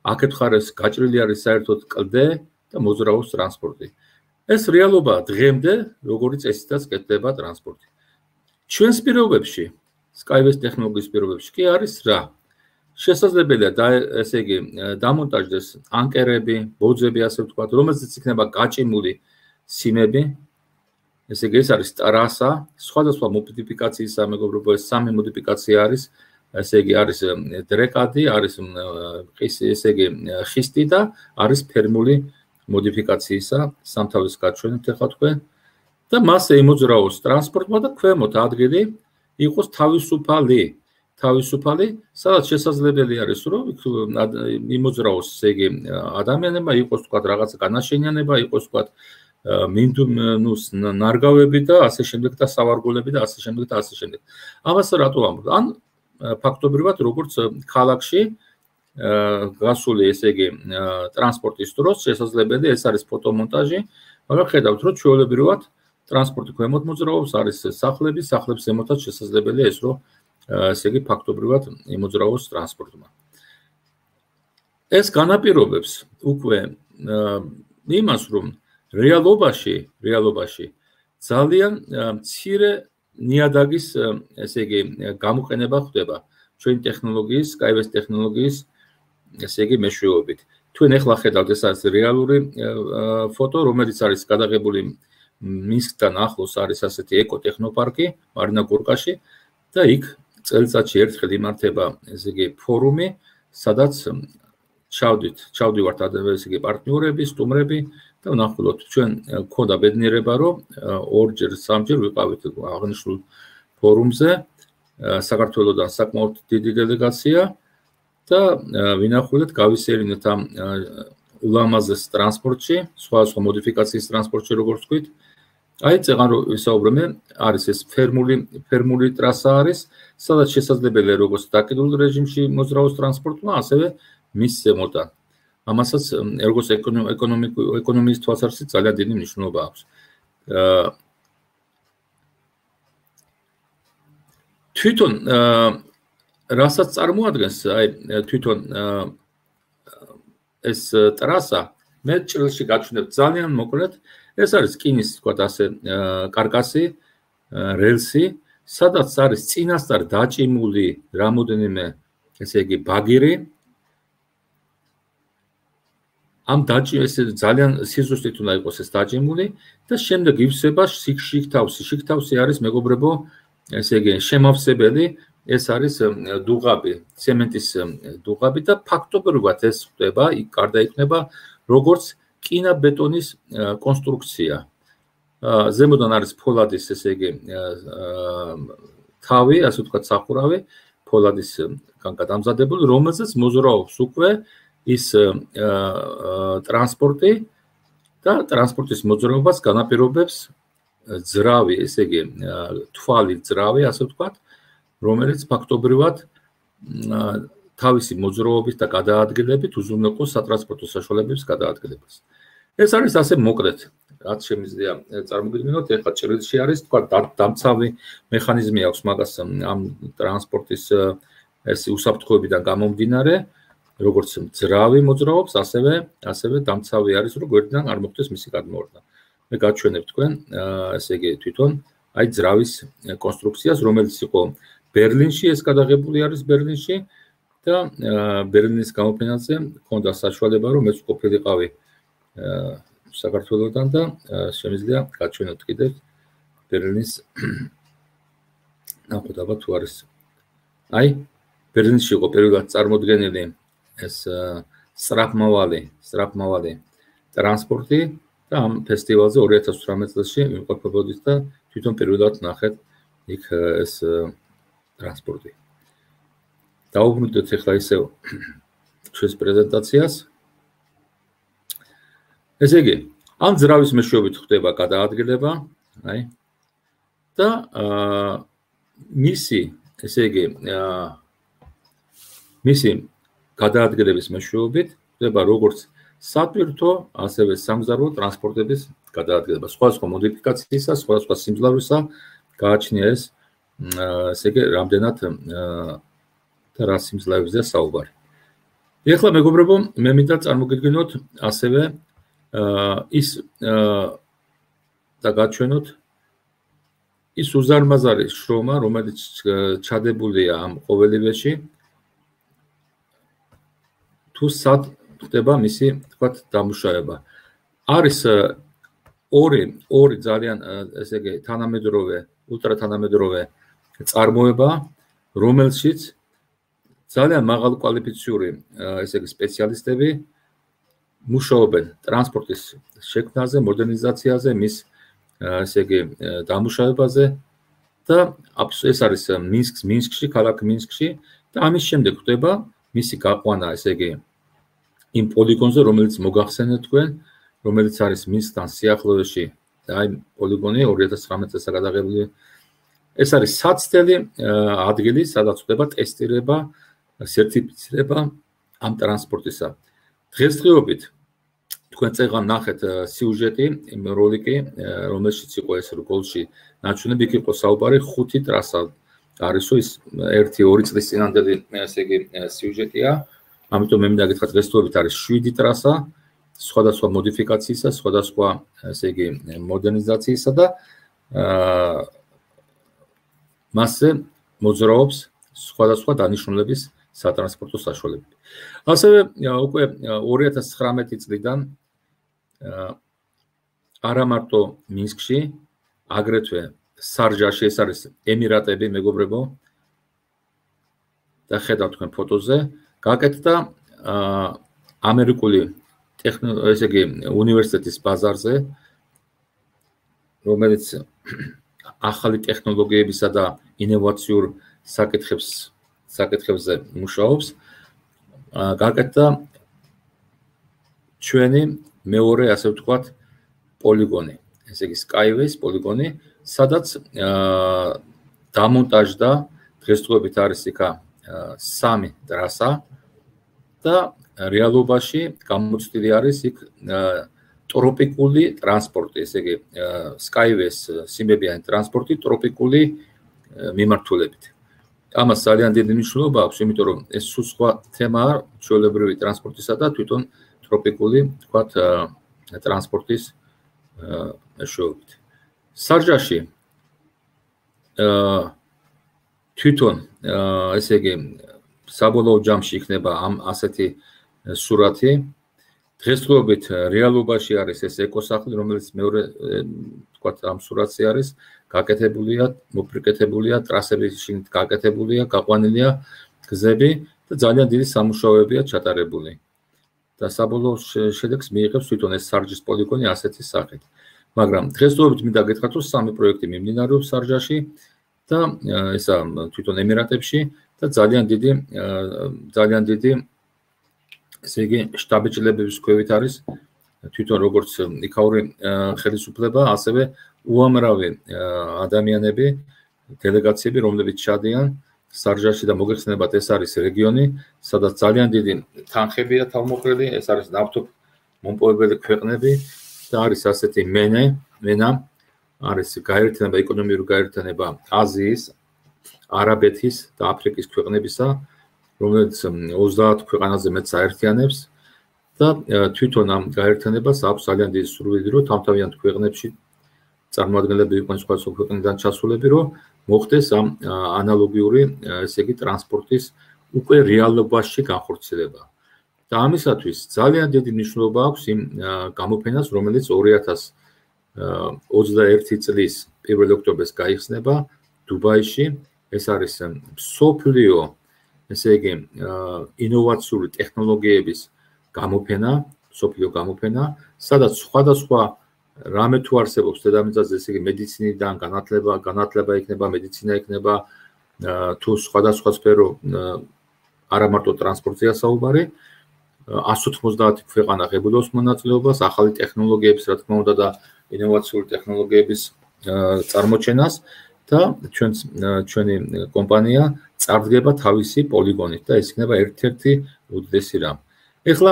აქეთ ხარეს გაჭრილი არის საერთოდ კლდე და მოძრაობს ტრანსპორტი. ეს რეალობა დღემდე, როგორც წესითაც კეთდება ტრანსპორტი. ჩვენს პირობებში, Skyway ტექნოლოგიის პირობებში კი არის რა? შესაძლებელია და ესე იგი დამონტაჟდეს ანკერები, ბოძები, ასე ვთქვათ, რომელზეც იქნება გაჭიმული სიმები. ესე იგი ეს არის ტრასა, სხვადასხვა მოდიფიკაციისა, მეგობრებო, ეს სამი მოდიფიკაცია არის. ესე იგი არის დრეკადი, არის ესე იგი ხისტი და არის ფერმული მოდიფიკაციისა, სამთავის გაჩვენებთ ახლა თქვენ. და მასე იმოძრაოს ტრანსპორტმა და ქვემოთ ადგილი იყოს თავისუფალი. თავისუფალი, სადაც შესაძლებელი არის, რომ იმოძრაოს ესე იგი ადამიანებმა იყოს თქვა რაღაცა განაშენიანება, იყოს თქვა მინდუნუს ნარგავები და ასე შემდეგ და სავარგულები და ასე შემდეგ და ასე შემდეგ. ამას რატო ამბობ? ან ფაქტობრივად როგორც ქალაქში გასული ესე იგი ტრანსპორტის დროს შესაძლებელი ეს არის ფოტომონტაჟი, მაგრამ ხედავთ რომ ჩვეულებრივად ტრანსპორტი ქვემოთ მოძრაობს, არის სახლები, სახლებს ზემოთაც შესაძლებელია ეს რომ ესე იგი ფაქტობრივად იმოძრაოს ტრანსპორტმა. ეს განაპირობებს უკვე იმას რომ რეალობაში, რეალობაში ძალიან მცირე ნიადაგის ესე იგი გამოყენება ხდება ჩვენი ტექნოლოგიის, Skyway ტექნოლოგიის ესე იგი მეშვეობით. თქვენ ახლა ხედავთ ეს არის რეალური ფოტო, რომელიც არის გადაღებული მინსკთან ახლოს არის ასეთი ეკოტექნოპარკი მარინა გორკაში და იქ წელიწადში ერთხელ იმართება ესე იგი ფორუმი, სადაც ჩავდით, ჩავდივართ ესე იგი პარტნიორები, სტუმრები და ვნახულობთ ჩვენ გქონდა ბედნიერება რომ ორჯერ, სამჯერ ვიყავით აღნიშნულ ფორუმზე, საქართველოსდან საკმაოდ დიდი დელეგაცია და ვინახულეთ გავისერინეთ ამ ულამაზეს ტრანსპორტში, სხვადასხვა მოდიფიკაციის ტრანსპორტში როგორც ვთქვით. აი წეგან რომ ვისაუბრებენ, არის ეს ფერმული ფერმული ტრასა არის, სადაც შესაძლებელია როგორც დაკიდულ რეჟიმში მოძრაოს ტრანსპორტმა, ასევე მის ზემოდან. ამასაც როგორც ეკონომიკურ ეკონომიის თვალსაზრისით ძალიან დიდი მნიშვნელობა აქვს. თვითონ რასაც წარმოადგენს, აი თვითონ ეს ტრასა მე ჭრილში გაჩვენებ ძალიან მოკლედ, ეს არის რკინის თქვა ასე კარკასი, რელსი, სადაც არის წინასწარ დაჭიმული რამოდენიმე ესე იგი ბაგირი. ამ დაჭიმეს ძალიან სიზუსტით უნდა იყოს ეს დაჭიმული და შემდეგ ივსება შიგთავსი. შიგთავსი არის მეგობრებო, ესე იგი შემავსებელი, ეს არის დუღაბი, ცემენტის დუღაბი და ფაქტობრივად ეს ხდება, იქ გარდაიქმნება როგორც კინაბეტონის კონსტრუქცია. ზემოდან არის ფოლადის ესე იგი თავი, ასე ვთქვათ სახურავი, ფოლადისგან გადამზადებული, რომელზეც მოძრაობს უკვე ის ტრანსპორტი და ტრანსპორტის მოძრაობას განაპირობებს ძრავი, ესე იგი თვალი ძრავი, ასე ვთქვათ, რომელიც ფაქტობრივად თავისი მოძრაობით და გადაადგილებით უზრუნველყოფს სატრანსპორტო საშუალებების გადაადგილებას. ეს არის ასე მოკლედ, რაც შემიძლია წარმოგიდგენოთ, ეხლა ჭრილში არის, თქვა დამცავი მექანიზმი აქვს მაგას ამ ტრანსპორტის ეს უსაფრთხოებიდან გამომდინარე, როგორც ძრავი მოძრაობს, ასევე ასევე დამცავი არის, რომ გვერდიდან არ მოხდეს მისი გადმოვარდნა. მე გაჩვენებ თქვენ, ესე იგი თვითონ აი ძრავის კონსტრუქციას, რომელიც იყო ბერლინში, ეს გადაღებული არის ბერლინში და ბერლინის გამოფენაზე მქონდა საშუალება, რომ მეც ყოფილიყავი საქართველოსდან და შემიძლია გაჩვენოთ კიდევ ბერლინის ნახოთ აბა თუ არის. აი ბერლინში იყო პირველად წარმოდგენილი ეს სწრაფმავალი, სწრაფმავალი ტრანსპორტი და ამ ფესტივალზე ორი ათას ოცდაოთხ წელს იმყოფებოდით და თვითონ პირველად ნახეთ იქ ეს ტრანსპორტი. დავუბრუნდეთ ახლა ისევ ჩვენს პრეზენტაციას. ესე იგი, ამ ძრავის მეშვეობით ხდება გადაადგილება, აი და მისი, ესე იგი, მისი გადაადგილების მეშვეობით ხდება როგორც სატვირთო, ასევე სამგზავრო ტრანსპორტების გადაადგილება. სხვადასხვა მოდიფიკაციისა, სხვადასხვა სიმძლავრისა გააჩნია ეს, ესე იგი, რამდენად და რა სიმძლავრეზეა საუბარი. ეხლა მეგობრებო, მე მინდა წარმოგიდგინოთ ასევე ის და გაჩვენოთ ის უზარმაზარი შრომა, რომელიც ჩადებულია ამ ყოველივეში, თუ სად ხდება მისი, თქვათ, დამუშავება. არის ორი ორი ძალიან, ესე იგი, თანამედროვე, ულტრათანამედროვე წარმოება, რომელშიც ძალიან მაღალკვალიფიციური, ესე იგი, სპეციალისტები მუშაობენ ტრანსპორტის შექმნაზე, მოდერნიზაციაზე, მის, ესე იგი, დამუშავებაზე და ეს არის მინსკს, მინსკში, ქალაქ მინსკში და ამის შემდეგ ხდება მისი გაყვანა, ესე იგი, იმ პოლიგონზე, რომელიც მოგახსენეთ თქვენ, რომელიც არის მინსკთან სიახლოვეში, აი პოლიგონი ორი ათას ცხრამეტ წელს გადაღებული. ეს არის საცდელი ადგილი, სადაც ხდება ტესტირება, სერტიფიცირება ამ ტრანსპორტისა. დღესდღეობით თქვენ წეგან ნახეთ სიუჟეტი, როლიკი, რომელშიც იყო ეს რგოლში ნაჩვენები, იქ იყო საუბარი ხუთი ტრასა არისო, ის ერთი ორი წლის წინანდელი, ესე იგი, სიუჟეტია. ამიტომ მე მინდა გითხრათ, დღესდღეობით არის შვიდი ტრასა, სხვადასხვა მოდიფიკაციისა, სხვადასხვა, ესე იგი, მოდერნიზაციისა და მასზე მოძრაობს სხვადასხვა დანიშნულების სატრანსპორტო საშუალებები. ასევე უკვე ორი ათას ცხრამეტი წლიდან არა მარტო მინსკში, აგრეთვე სარჯაში, ეს არის ემირატები, მეგობრებო, და ხედავთ თქვენ ფოტოზე, გაკეთდა ამერიკული ესე იგი, უნივერსიტეტის ბაზარზე, რომელიც ახალი ტექნოლოგიებისა და ინოვაციურ საკითხებს საკითხებზე მუშაობს, გაკეთდა ჩვენი მეორე, ასე ვთქვათ, პოლიგონი, ესე იგი Skyways პოლიგონი, სადაც დამონტაჟდა, დღესდღეობით არის იქა სამი ტრასა და რეალობაში გამოცდილი არის იქ ტროპიკული ტრანსპორტი, ესე იგი Skyways სიმებიანი ტრანსპორტი ტროპიკული მიმართულებით. ამას ძალიან დიდი მნიშვნელობა აქვს, იმიტომ რომ ეს სულ სხვა თემაა ჩვეულებრივი ტრანსპორტისა და თვითონ ტროპიკული, თქვათ, ტრანსპორტის მეშვეობით. სარჯაში თვითონ, ესე იგი, საბოლოო ჯამში იქნება ამ ასეთი სურათი. დღესდღეობით რეალობაში არის ეს ეკოსახლი, რომელიც მეორე, თქვათ, ამ სურათზე არის, გაკეთებულია, მოფრიკეთებულია, ტრასები შიგნით გაკეთებულია, გაყვანილია გზები და ძალიან დიდი სამუშაოებია ჩატარებული. და საბოლოო შედეგს მიიღებს თვითონ ეს სარჯის პოლიგონი ასეთი სახით. მაგრამ დღესდღეობით მინდა გითხრათ, რომ სამი პროექტი მიმდინარეობს სარჯაში და ესა თვითონ ემირატებში და ძალიან დიდი ძალიან დიდი ესე იგი შტაბ-ჭილებების ქვევით არის თვითონ როგორც იქაური ხელისუფლება, ასევე უამრავი ადამიანები, დელეგაციები, რომლებიც ჩადიან სარჯაში და მოგეხსენებათ, ეს არის რეგიონი, სადაც ძალიან დიდი თანხებია თავმოყრილი, ეს არის ნავთობმომპოვებელი ქვეყნები და არის ასეთი მენე, მენა, არის გაერთიანება, ეკონომიური გაერთიანება აზიის, არაბეთის და აფრიკის ქვეყნებისა, რომელიც ოცდაათ ქვეყანაზე მეტს აერთიანებს და თვითონ ამ გაერთიანებას აქვს ძალიან დიდი სურვილი, რომ თავთავიანთ ქვეყნებში წარმოადგენლები იყვნენ სხვადასხვა ქვეყნიდან ჩასულები, რომ მოხდეს ამ ანალოგიური, ესე იგი, ტრანსპორტის უკვე რეალობაში განხორციელება. და ამისათვის ძალიან დიდი მნიშვნელობა აქვს იმ გამოფენას, რომელიც ორი ათას ოცდაერთი წლის პირველი ოქტომბერს გაიხსნება დუბაიში. ეს არის მსოფლიო, ესე იგი, ინოვაციური ტექნოლოგიების გამოფენა, მსოფლიო გამოფენა, სადაც სხვადასხვა რამე თუ არსებობს დედამიწაზე, ესე იგი მედიცინიდან განათლება, განათლება იქნება, მედიცინა იქნება, თუ სხვადასხვა სფერო არა მარტო ტრანსპორტია საუბარი, one ოცდაათი ქვეყანა ღებულობს მონაწილეობას, ახალი ტექნოლოგიების, რა თქმა უნდა და ინოვაციური ტექნოლოგიების წარმოჩენას და ჩვენს ჩვენი კომპანია წარდგება თავისი პოლიგონით და ეს იქნება ერთ-ერთი უდიდესი რამ. ეხლა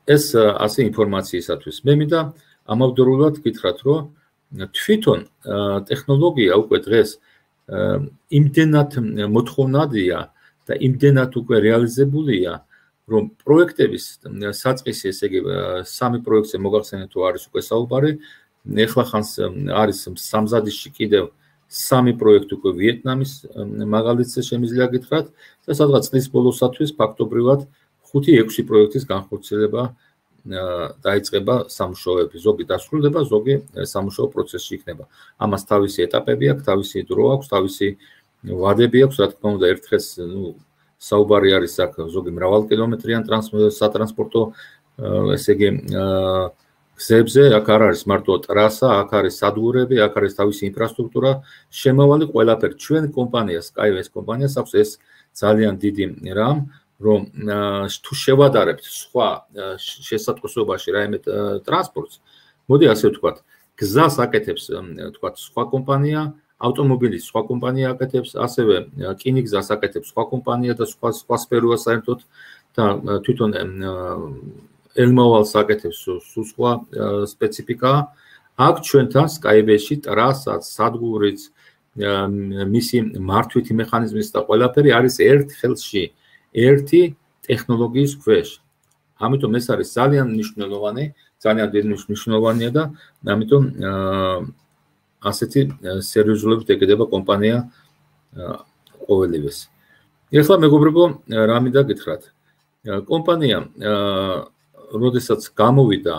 ეს ასე ინფორმაციისათვის მე მინდა ამავდროულად გითხრათ, რომ თვითონ ტექნოლოგია უკვე დღეს იმდენად მოთხოვნადია და იმდენად უკვე რეალიზებულია, რომ პროექტების საწყისი, ესე იგი სამი პროექტზე მოგახსენეთ თუ არის უკვე საუბარი, ეხლა ხანს არის სამზადისში კიდევ სამი პროექტი უკვე ვიეტნამის მაგალითზე შემიძლია გითხრათ და სადღაც წლის ბოლოსათვის ფაქტობრივად ხუთი ექვსი პროექტის განხორციელება დაიწყება სამუშაოები, ზოგი დასრულდება, ზოგი სამუშაო პროცესში იქნება. ამას თავისი ეტაპები აქვს, თავისი დრო აქვს, თავისი ვადები აქვს, რა თქმა უნდა, ერთხელს, ნუ, საუბარი არის აქ ზოგი მრავალკილომეტრიან სატრანსპორტო, ესე იგი, გზებზე, აქ არ არის მარტო ტრასა, აქ არის სადგურები, აქ არის თავისი ინფრასტრუქტურა, შემავალი ყველაფერი. ჩვენ კომპანია, Skyways კომპანიას აქვს ეს ძალიან დიდი რამ, რომ თუ შევადარებთ სხვა შესატყვისობაში რაიმე ტრანსპორტს, მოდი ასე ვთქვათ, გზას აკეთებს, ვთქვათ, სხვა კომპანია, ავტომობილის სხვა კომპანია აკეთებს, ასევე რკინიგზას აკეთებს სხვა კომპანია და სხვა სხვა სფეროა საერთოდ და თვითონ ელმოვალს აკეთებს სულ სხვა სპეციფიკაა. აქ ჩვენთან Skyways-ში ტრასაც, სადგურიც, მისი მართვითი მექანიზმის და ყველაფერი არის ერთ ხელში. ერთი ტექნოლოგიის ქვეშ. ამიტომ ეს არის ძალიან მნიშვნელოვანი, ძალიან დიდი მნიშვნელოვანია და ამიტომ ასეთი სერიოზულობით ეკიდება კომპანია ყოველივეს. ეხლა მეგობრებო, რა მინდა გითხრათ. კომპანია როდესაც გამოვიდა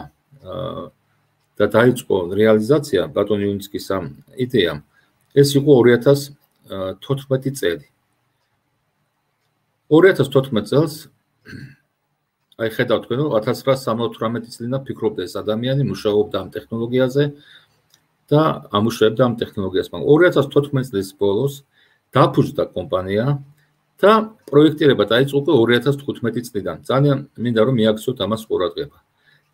და დაიწყო რეალიზაცია ბატონ იუნიცკის ამ იდეამ, ეს იყო ორი ათას თოთხმეტი წელი. ორი ათას თოთხმეტ წელს აი ხედავთ თქვენ, რომ ათას ცხრაასი სამოცდაოთხ წლიდან ფიქრობდა ეს ადამიანი, მუშაობდა ამ ტექნოლოგიაზე და ამუშავებდა ამ ტექნოლოგიას. მაგრამ ორი ათას თოთხმეტ წლის ბოლოს დაფუძნდა კომპანია და პროექტირება დაიწყო უკვე ორი ათას თხუთმეტი წლიდან. ძალიან მინდა რომ მიაქციოთ ამას ყურადღება.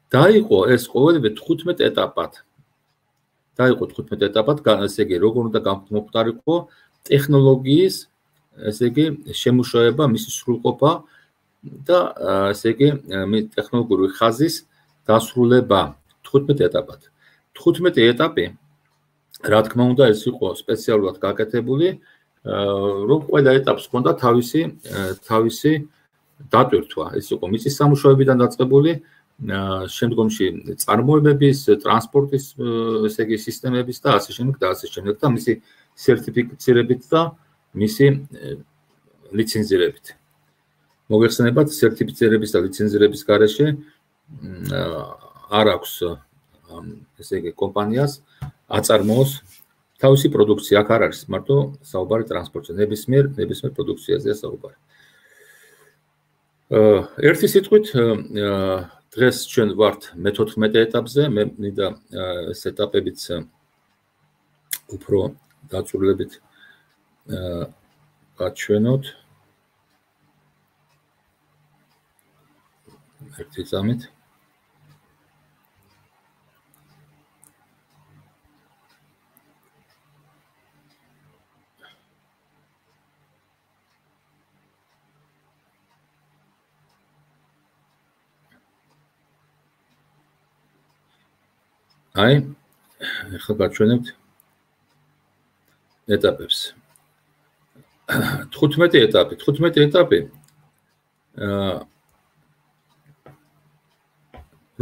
დაიყო ეს ყოველივე თხუთმეტ ეტაპად. დაიყო თხუთმეტ ეტაპად, ესე იგი, როგორ უნდა გამოხდარიყო ტექნოლოგიის, ესე იგი, შემუშავება, მისი სრულყოფა და ესე იგი, ტექნოლოგიური ხაზის დასრულება თხუთმეტ ეტაპად. თხუთმეტი ეტაპი, რა თქმა უნდა, ეს იყო სპეციალურად გაკეთებული, რომ ყველა ეტაპს ჰქონდა თავისი თავისი დატვირთვა. ეს იყო მიწის სამუშაოებიდან დაწყებული, შემდგომში წარმოებების, ტრანსპორტის, ესე იგი, სისტემების და ასე შემდეგ და ასე შემდეგ და მისი სერტიფიცირებით და მისი ლიცენზირებით. მოგეხსენებათ, სერტიფიცირების და ლიცენზირების გარეშე არ აქვს ესე იგი კომპანიას აწარმოოს თავისი პროდუქცია, აქ არ არის მარტო საუბარი ტრანსპორტზე, ნებისმიერ ნებისმიერ პროდუქციაზეა საუბარი. ერთი სიტყვით, დღეს ჩვენ ვართ მეთოთხმეტე ეტაპზე, მე მინდა ეს ეტაპებიც უფრო დაწვრილებით გაჩვენოთ. ერთი წამით. აი, ახლა გაჩვენებთ ეტაპებს. თხუთმეტი ეტაპი, თხუთმეტი ეტაპი. აა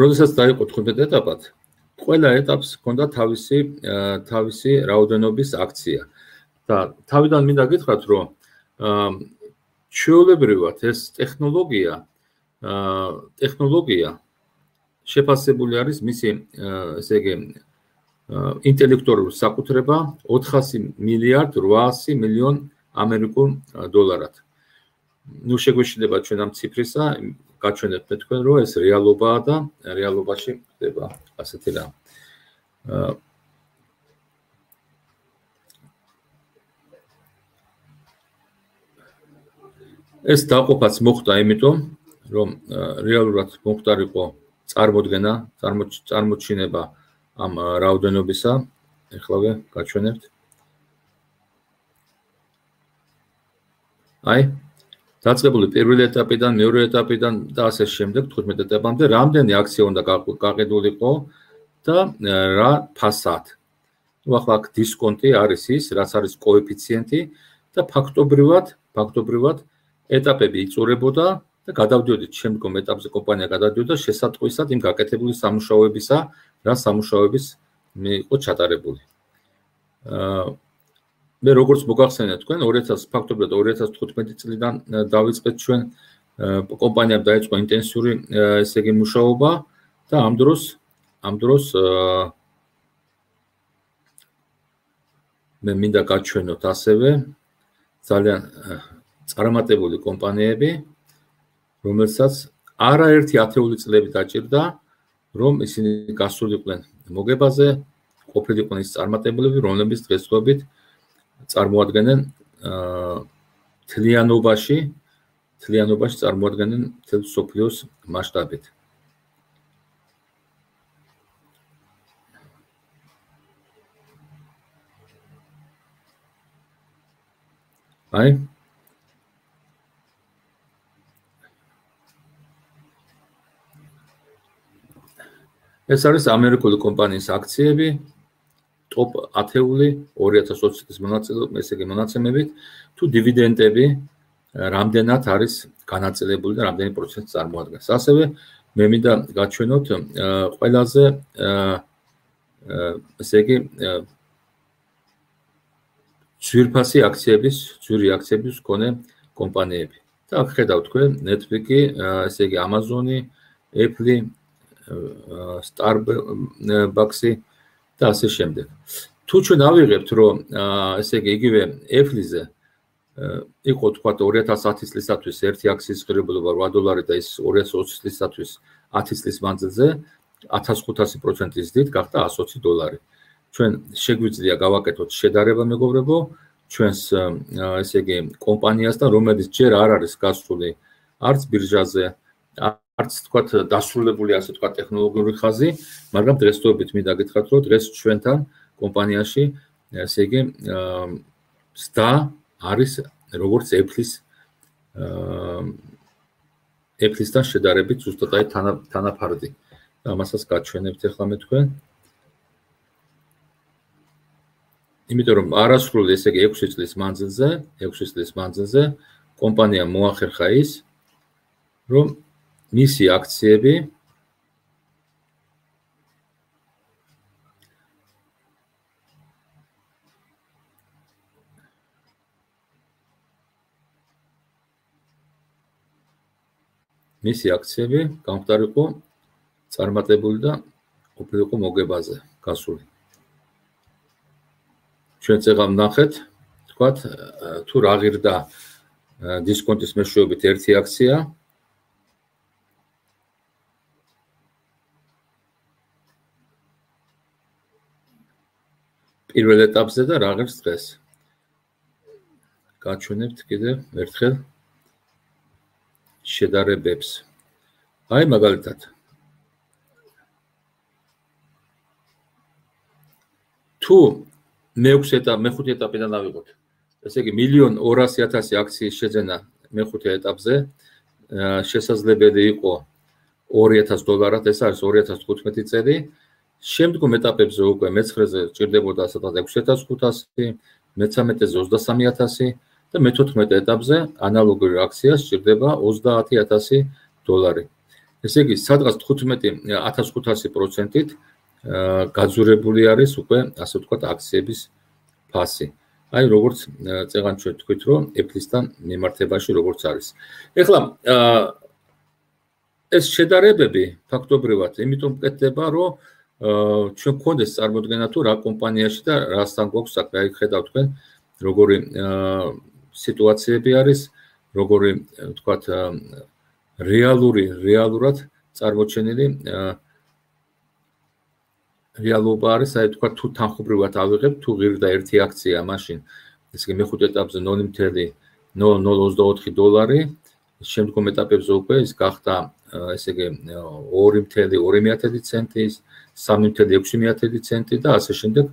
როდესაც დაიყო თხუთმეტ ეტაპად, ყველა ეტაპს ჰქონდა თავისი თავისი რაოდენობის აქცია. და თავიდან მინდა გითხრათ, რომ ჩვეულებრივად ეს ტექნოლოგია აა ტექნოლოგია შეფასებული არის მისი ესე იგი ინტელექტუალური საკუთრება ოთხასი მილიარდ ოთხასი მილიონ ამერიკულ დოლარად. ნუ შეგვეშინდება ჩვენ ამ ციფრისა, გაჩვენებთ თქვენ, რომ ეს რეალობაა და რეალობაში ხდება ასეთი რამ. ეს დაყოფაც მოხდა იმიტომ, რომ რეალურად მომხდარიყო წარმოდგენა, წარმოჩინება ამ რაოდენობისა. ეხლავე გაჩვენებთ. აი, დაწყებული პირველი ეტაპიდან, მეორე ეტაპიდან და ასე შემდეგ, თხუთმეტ ეტაპამდე, რამდენი აქცია უნდა გაყიდულიყო და რა ფასად. ნუ ახლა აქ დისკონტი არის ის, რაც არის კოეფიციენტი და ფაქტობრივად, ფაქტობრივად ეტაპები იწურებოდა და გადავდიოდით შემდგომ ეტაპზე კომპანია გადავდიოდა შესატყვისად იმ გაკეთებული სამუშაოებისა, რა სამუშაოების იყო ჩატარებული. მე როგორც მოგახსენეთ თქვენ, ორი ათას ფაქტობრივად ორი ათას თხუთმეტი წლიდან დავიწყეთ ჩვენ კომპანიამ დაიწყო ინტენსიური ესე იგი მუშაობა და ამ დროს ამ დროს მე მინდა გაჩვენოთ ასევე ძალიან წარმატებული კომპანიები, რომელსაც არაერთი ათეული წლები დაჭირდა, რომ ისინი გასულიყვნენ მოგებაზე, ყოფილიყვნენ ის წარმატებულები, რომლებიც დღესდღეობით წარმოადგენენ თლიანობაში, თლიანობაში წარმოადგენენ მთელ მსოფლიოს მასშტაბით. აი ეს არის ამერიკული კომპანიის აქციები, ტოპ ათეული ორი ათას ოცი წლის მონაწილეობით, ესე იგი მონაცემებით, თუ დივიდენდები რამდენად არის განაწილებული და რამდენი პროცენტი წარმოადგენს. ასევე მე მინდა გაჩვენოთ ყველაზე ესე იგი ძვირფასი აქციების, ძვირი აქციების მქონე კომპანიები. და აქ ხედავთ თქვენ Netflix-ი, ესე იგი Amazon-ი, Apple-ი, Starbucks-ი და ასე შემდეგ. თუ ჩვენ ავიღებთ, რომ ესე იგი იგივე Apple-ზე იყო თქვა ორი ათას ათი წლისათვის ერთი აქციის ღირებულება რვა დოლარი და ის ორი ათას ოცი წლისათვის ათი წლის მანძილზე ათას ხუთასი პროცენტი ზრდით გახდა ათას ოცი დოლარი. ჩვენ შეგვიძლია გავაკეთოთ შედარება მეგობრებო, ჩვენს ესე იგი კომპანიასთან, რომელიც ჯერ არ არის გასული არც ბირჟაზე, არც თქვა დასრულებული ასე თქვა ტექნოლოგიური ხაზი, მაგრამ დღესდღეობით მინდა გითხრათ, რომ დღეს ჩვენთან კომპანიაში ესე იგი ზრდა არის როგორც Apple-ის Apple-ისთან შედარებით ზუსტად აი თანაფარდი. ამასაც გაჩვენებთ ახლა მე თქვენ. იმიტომ რომ არასრული ესე იგი ექვსი წლის მანძილზე, ექვსი წლის მანძილზე კომპანიამ მოახერხა ის, რომ მისი აქციები მისი აქციები გამხდარიყო წარმატებული და ყოფილიყო მოგებაზე გასული. ჩვენ წეღავ ნახეთ, თქვათ, თუ რა ღირდა დისკონტის მეშვეობით ერთი აქცია. პირველ ეტაპზე და რა ღირს დღეს. გაჩვენებთ კიდევ ერთხელ შედარებებს. აი მაგალითად თუ მეექვსე ეტაპ, მეხუთე ეტაპიდან ავიღოთ. ესე იგი მილიონ ორასი ათასი აქციის შეძენა მეხუთე ეტაპზე შესაძლებელი იყო ორი ათას დოლარად, ეს არის ორი ათას თხუთმეტი წელი. შემდგომ ეტაპებზე უკვე მეცხრეზე ჭირდებოდა სადღაც ექვსი ათას ხუთასი, მეთერთმეტეზე ოცდასამი ათასი და მეთოთხმეტე ეტაპზე ანალოგური აქცია სჭირდება ოცდაათი ათასი დოლარი. ესე იგი სადღაც თხუთმეტი ათას ხუთასი პროცენტით გაძურებული არის უკვე ასე ვთქვათ აქციების ფასი. აი როგორც წეღან ჩვენ თქვით რომ Apple-ისთან მიმართებაში როგორც არის. ეხლა ეს შედარებები ფაქტობრივად იმიტომ მკეთდება რომ ჩვენ გქონდეს წარმოდგენა თუ რა კომპანიაში და რასთან გვაქვს საქმე. აი ხედავთ თქვენ როგორი სიტუაციები არის, როგორი ვთქვათ რეალური რეალურად წარმოჩენილი რეალობა არის, აი თქვა თუ თანხმობრივად ავიღებ, თუ ღირდა ერთი აქცია მაშინ, ესე იგი მეხუთე ეტაპზე ნული ათეული ნული ნული ოცდაოთხი დოლარი, შემდგომ ეტაპებზე უკვე ის გახდა, ესე იგი ორი ათეული ორი მეათედი ცენტი, სამი ათეული ექვსი მეათედი ცენტი და ასე შემდეგ,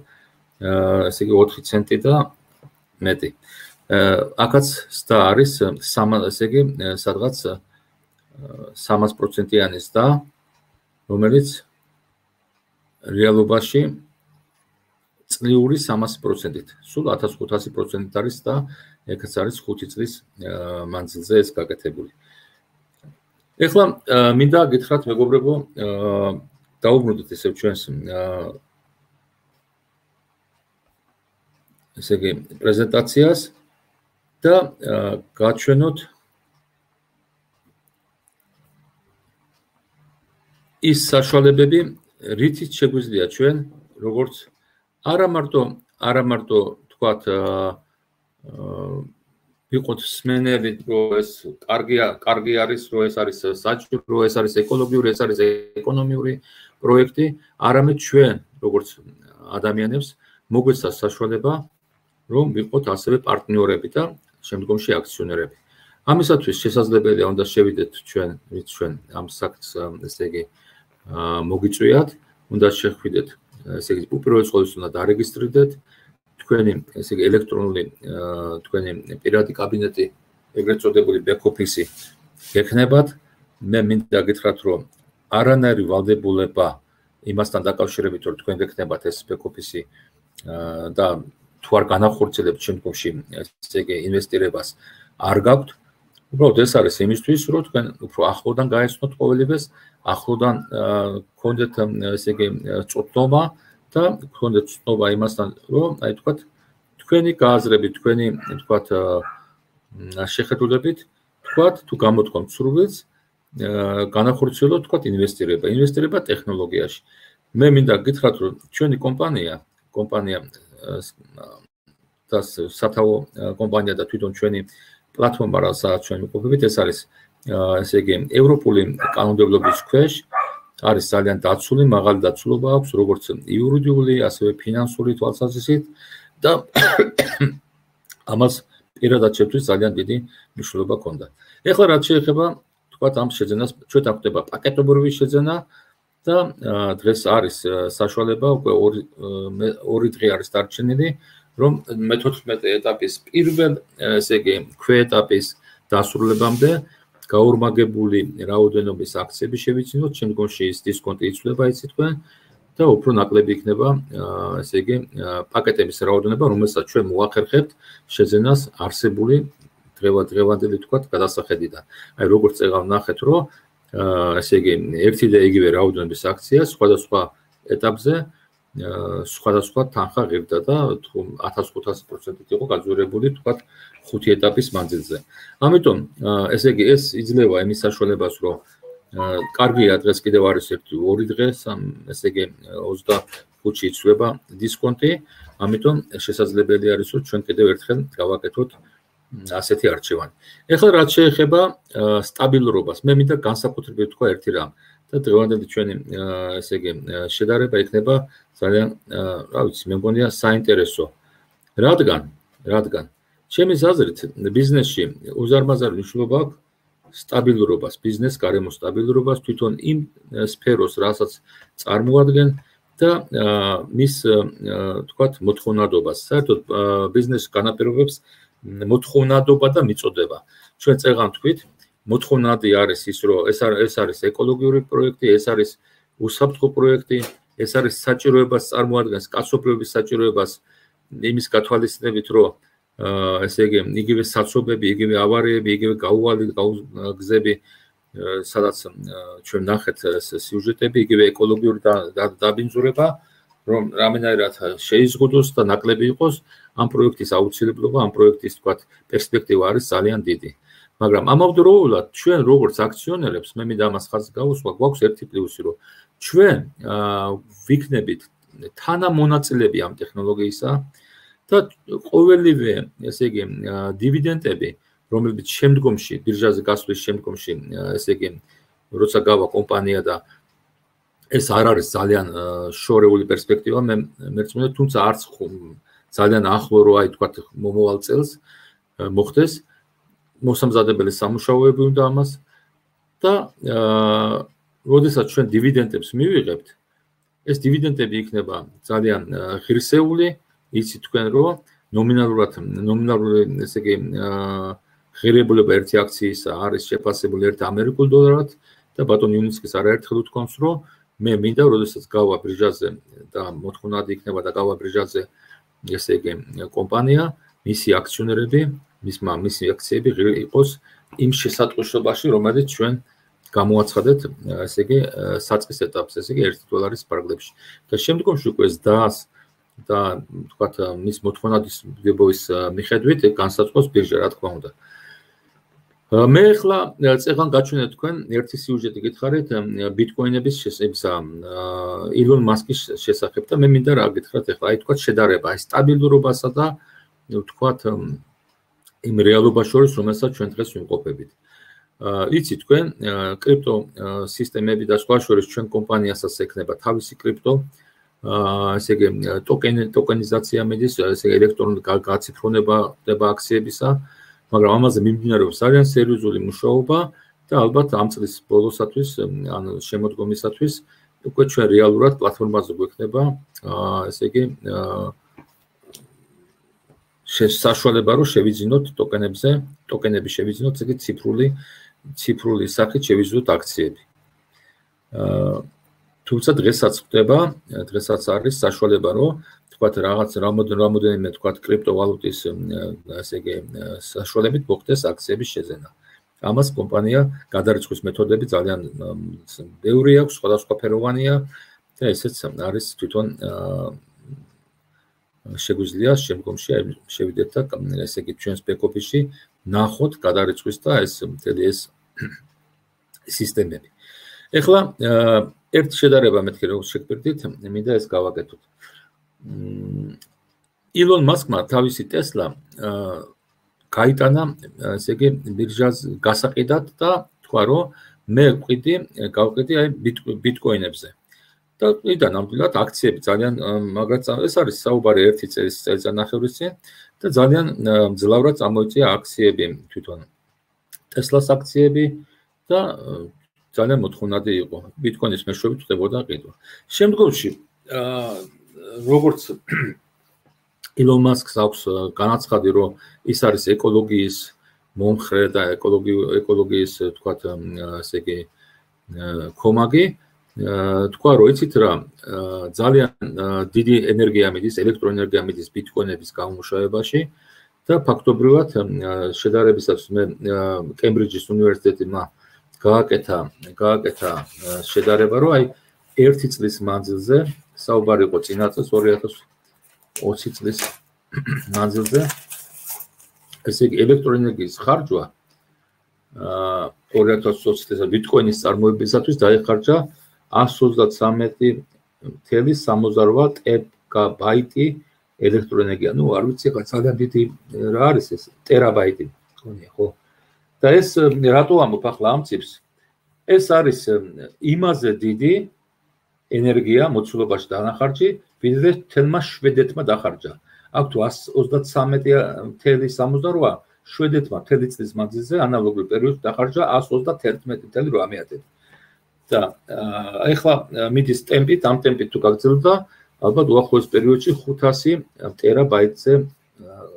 ესე იგი ოთხი ცენტი და მეტი. აქაც სდა არის, ესე იგი სადღაც სამას პროცენტიანი სდა, რომელიც რეალობაში წლიური სამასი პროცენტით, სულ ათას ხუთასი პროცენტით არის და ეგაც არის ხუთი წლის მანძილზე ეს გაკეთებული. ეხლა მინდა გითხრათ მეგობრებო, დაუბრუნდეთ ისევ ჩვენს ესე იგი პრეზენტაციას და გაჩვენოთ ის საშუალებები, რითიც შეგვიძლია ჩვენ, როგორც არა მარტო, არა მარტო თქვათ, ვიყოთ სმენელი, რომ ეს კარგი კარგი არის, რომ ეს არის საჭირო, ეს არის ეკოლოგიური, ეს არის ეკონომიური პროექტი, არამედ ჩვენ, როგორც ადამიანებს, მოგვეცას საშუალება, რომ ვიყოთ ასევე პარტნიორები და შემდგომში აქციონერები. ამისათვის შესაძლებელია უნდა შევიდეთ ჩვენ, ვით ჩვენ ამ საქმეს, ესე იგი მოგიწვიათ, უნდა შეხვიდეთ, ესე იგი უპირველეს ყოვლისა უნდა დარეგისტრირდეთ თქვენი, ესე იგი ელექტრონული თქვენი პირადი კაბინეტი, ეგრეთ წოდებული back office-ი გექნებათ. მე მინდა გითხრათ, რომ არანაირი ვალდებულება იმასთან დაკავშირებით, რომ თქვენ გექნებათ ეს back office-ი და თუ არ განახორციელებთ შემდგომში, ესე იგი ინვესტირებას არ გაქვთ. უბრალოდ ეს არის იმისთვის, რომ თქვენ უფრო ახლოდან გაეცნოთ ყოველივეს, ახლოდან გქონდეთ ესე იგი წოდნობა და გქონდეთ წოდნობა იმასთან, რომ აი თქვათ თქვენი გააზრებით, თქვენი თქვათ შეხედულებით, თქვათ თუ გამოთქვამთ სურვილს, განახორციელოთ თქვათ ინვესტირება, ინვესტირება ტექნოლოგიაში. მე მინდა გითხრათ, რომ ჩვენი კომპანია, კომპანია და სათაო კომპანია და თვითონ ჩვენი პლატფორმა, რასაც ჩვენ ვიყოფებით, ეს არის ესე იგი ევროპული კანონმდებლობის ქვეშ, არის ძალიან დაცული, მაღალი დაცულობა აქვს, როგორც იურიდიული, ასევე ფინანსური თვალსაზრისით და ამას პირადად შეთვის ძალიან დიდი მნიშვნელობა ჰქონდა. ეხლა რაც შეეხება, თქვათ ამ შეძენას, ჩვენთან ხდება პაკეტობრივი შეძენა და დღეს არის საშუალება, უკვე ორი დღე არის დარჩენილი, რომ მეთოთხმეტე ეტაპის პირველ, ესე იგი, ქვეეტაპის დასრულებამდე გაორმაგებული რაოდენობის აქციები შევიცინოთ, შემდგომში ის დისკონტი იცვლება, იცით თქვენ და უფრო ნაკლები იქნება, ესე იგი, პაკეტების რაოდენობა, რომელსაც ჩვენ მოახერხებთ შეძენას არსებული დღევანდელი თქვათ გადასახედიდან. აი როგორც წეგავ ნახეთ, რომ ესე იგი, ერთი და იგივე რაოდენობის აქცია სხვადასხვა ეტაპზე სხვადასხვა თანხა ღირდა და ათას ხუთასი პროცენტით იყო გაძვირებული თქვათ ხუთი ეტაპის მანძილზე. ამიტომ ესე იგი ეს იძლევა იმის საშუალებას, რომ კარგია დღეს კიდევ არის ერთი ორი დღე, ესე იგი ოცდახუთში იცვლება დისკონტი, ამიტომ შესაძლებელი არის, რომ ჩვენ კიდევ ერთხელ გავაკეთოთ ასეთი არჩევანი. ეხლა რაც შეეხება სტაბილურობას, მე მინდა განსაკუთრებით თქვა ერთი რამ და დღევანდელი ჩვენი ესე იგი შედარება იქნება ძალიან, რა ვიცი, მე მგონია საინტერესო. რადგან, რადგან ჩემის აზრით ბიზნესში უზარმაზარი მნიშვნელობა აქვს სტაბილურობას, ბიზნეს გარემოს სტაბილურობას, თვითონ იმ სფეროს, რასაც წარმოადგენს და მის თქვათ მოთხოვნადობას. საერთოდ ბიზნესს განაპირობებს მოთხოვნადობა და მიწოდება. ჩვენ წეღან თქვით, მოთხოვნადი არის ის, რომ ეს ეს არის ეკოლოგიური პროექტი, ეს არის უსაფრთხო პროექტი, ეს არის საჭიროებას წარმოადგენს, კაცობრიობის საჭიროებას იმის გათვალისწინებით, რომ ესე იგი, იგივე საცობები, იგივე ავარიები, იგივე გაუვალი გზები, სადაც ჩვენ ნახეთ სიუჟეტები, იგივე ეკოლოგიური დაბინძურება, რომ რამენაირად შეიზღუდოს და ნაკლები იყოს, ამ პროექტის აუცილებლობა, ამ პროექტის თქვათ პერსპექტივა არის ძალიან დიდი. მაგრამ ამავდროულად ჩვენ როგორც აქციონერებს, მე მინდა ამას ხაზს გავუსვა, გვაქვს ერთი პლუსი, რომ ჩვენ ვიქნებით თანამონაწილეები ამ ტექნოლოგიისა და ყოველივე, ესე იგი, დივიდენდები, რომლებიც შემდგომში, ბირჟაზე გასვლის შემდგომში, ესე იგი, როცა გავა კომპანია და ეს არ არის ძალიან შორეული პერსპექტივა, მე მერწმუნე, თუმცა არც ძალიან ახლო რო აი თქვა მომავალ წელს მოხდეს, მოსამზადებელი სამუშაოები უნდა ამას და როდესაც ჩვენ დივიდენდებს მივიღებთ, ეს დივიდენდები იქნება ძალიან ღირსეული, იცით თქვენ რომ ნომინალურად ნომინალური ესე იგი ღირებულება ერთი აქციისა არის შეფასებული ერთ ამერიკულ დოლარად და ბატონ იუნიცკის არაერთხელ უთქვამს რომ მე მინდა როდესაც გავა ბრიჟაზე და მოთხოვნადი იქნება და გავა ბრიჟაზე ესე იგი კომპანია, მისი აქციონერები, მისმა მისი აქციები იყოს იმ შესატყვისობაში, რომელიც ჩვენ გამოაცხადეთ, ესე იგი საწყის ეტაპს, ესე იგი ერთი დოლარის პარაგლებში. და შემდგომში უკვე ზდას და თქვათ მის მოთხოვნადის დებოვის მიხედვით განსაზღვროს ბირჟა, რა თქმა უნდა. მე ახლა წეგან გაჩვენეთ თქვენ ერთი სიუჟეტი გითხარით ბიტკოინების შესაძებისა ილონ მასკის შესახებ და მე მინდა რა გითხრათ ახლა აი თქვათ შედარება აი სტაბილურობასა და თქვათ იმ რეალობას შორის რომელსაც ჩვენ დღეს ვიმყოფებით. იცით თქვენ კრიპტო სისტემები და სხვა შორის ჩვენ კომპანიასაც ექნება თავისი კრიპტო ესე იგი ტოკენი ტოკენიზაცია მიდის ესე ელექტრონული გაციფრონება ხდება აქციებისა მაგრამ ამაზე მიმდინარეობს ძალიან სერიოზული მუშაობა და ალბათ ამ წლის ბოლოსათვის ან შემოდგომისათვის უკვე ჩვენ რეალურად პლატფორმაზე გვექნება ესე იგი საშუალება რომ შევიძინოთ ტოკენებზე, ტოკენები შევიძინოთ, ესე იგი ციფრული ციფრული სახით შევიძინოთ აქციები. თუმცა დღესაც ხდება, დღესაც არის საშუალება რომ თქვათ რაღაც რამოდენიმე თქვათ კრიპტოვალუტის ესე იგი საშუალებით მოხდეს აქციების შეძენა. ამას კომპანია გადარიცხვის მეთოდები ძალიან ბევრი აქვს, სხვადასხვაფეროვანია და ესეც არის თვითონ შეგვიძლია შემდგომში შევიდეთ და ესე იგი ჩვენს ბექ-ოფისში ნახოთ გადარიცხვის და ეს მთელი ეს სისტემები. ეხლა ერთ შედარება მეთქი რომ შეგპირდით, მინდა ეს გავაკეთოთ. ილონ მასკმა თავისი ტესლა გაიტანა ესე იგი ბირჟას გასაყიდად და თქვა რომ მე ვყიდი, გავყიდი აი ბიტკოინებზე. და იდან ნამდვილად აქციები ძალიან მაგრად ეს არის საუბარი ერთი წელს წელიწადნახევრის წინ და ძალიან მძლავრად წამოიწია აქციები თვითონ ტესლას აქციები და ძალიან მოთხოვნადი იყო ბიტკოინის მეშვეობით ხდებოდა ყიდვა. შემდგომში როგორც ილონ მასკს აქვს განაცხადი რომ ის არის ეკოლოგიის მომხრე და ეკოლოგიის თქვათ ესე იგი კომაგი თქვა რომ იცით რა ძალიან დიდი ენერგია მიდის, ელექტროენერგია მიდის ბიტკოინების გამომუშავებაში და ფაქტობრივად შედარებისას მე კემბრიჯის უნივერსიტეტმა გააკეთა გააკეთა შედარება რომ აი ერთი წლის მანძილზე საუბარი იყო წინა წელს ორი ათას ოცი წლის მანძილზე ესე იგი ელექტროენერგიის ხარჯვა ორი ათას ოცი წელს ბიტკოინის წარმოებისათვის დაიხარჯა ასს ოცდათრამეტი ნული სამოცდარვა ტერაბაიტი ელექტროენერგია. ნუ არ ვიცი ხა ძალიან დიდი რა არის ეს ტერაბაიტი მგონია ხო? და ეს რატო ამბობ ახლა ამ ციფრს? ეს არის იმაზე დიდი ენერგია მოცულობაში დანახარჯი, ვიდრე თელმა შვედეთმა დახარჯა. აქ თუ ასს ოცდათრამეტი ნული სამოცდარვა შვედეთმა მთელი წლის მანძილზე ანალოგური პერიოდში დახარჯა ასს ოცდათერთმეტი ნული რვამეტი. და ეხლა მიდის ტემპით, ამ ტემპით თუ გაგრძელდა, ალბათ უახლოეს პერიოდში ხუთასი ტერაბაიტზე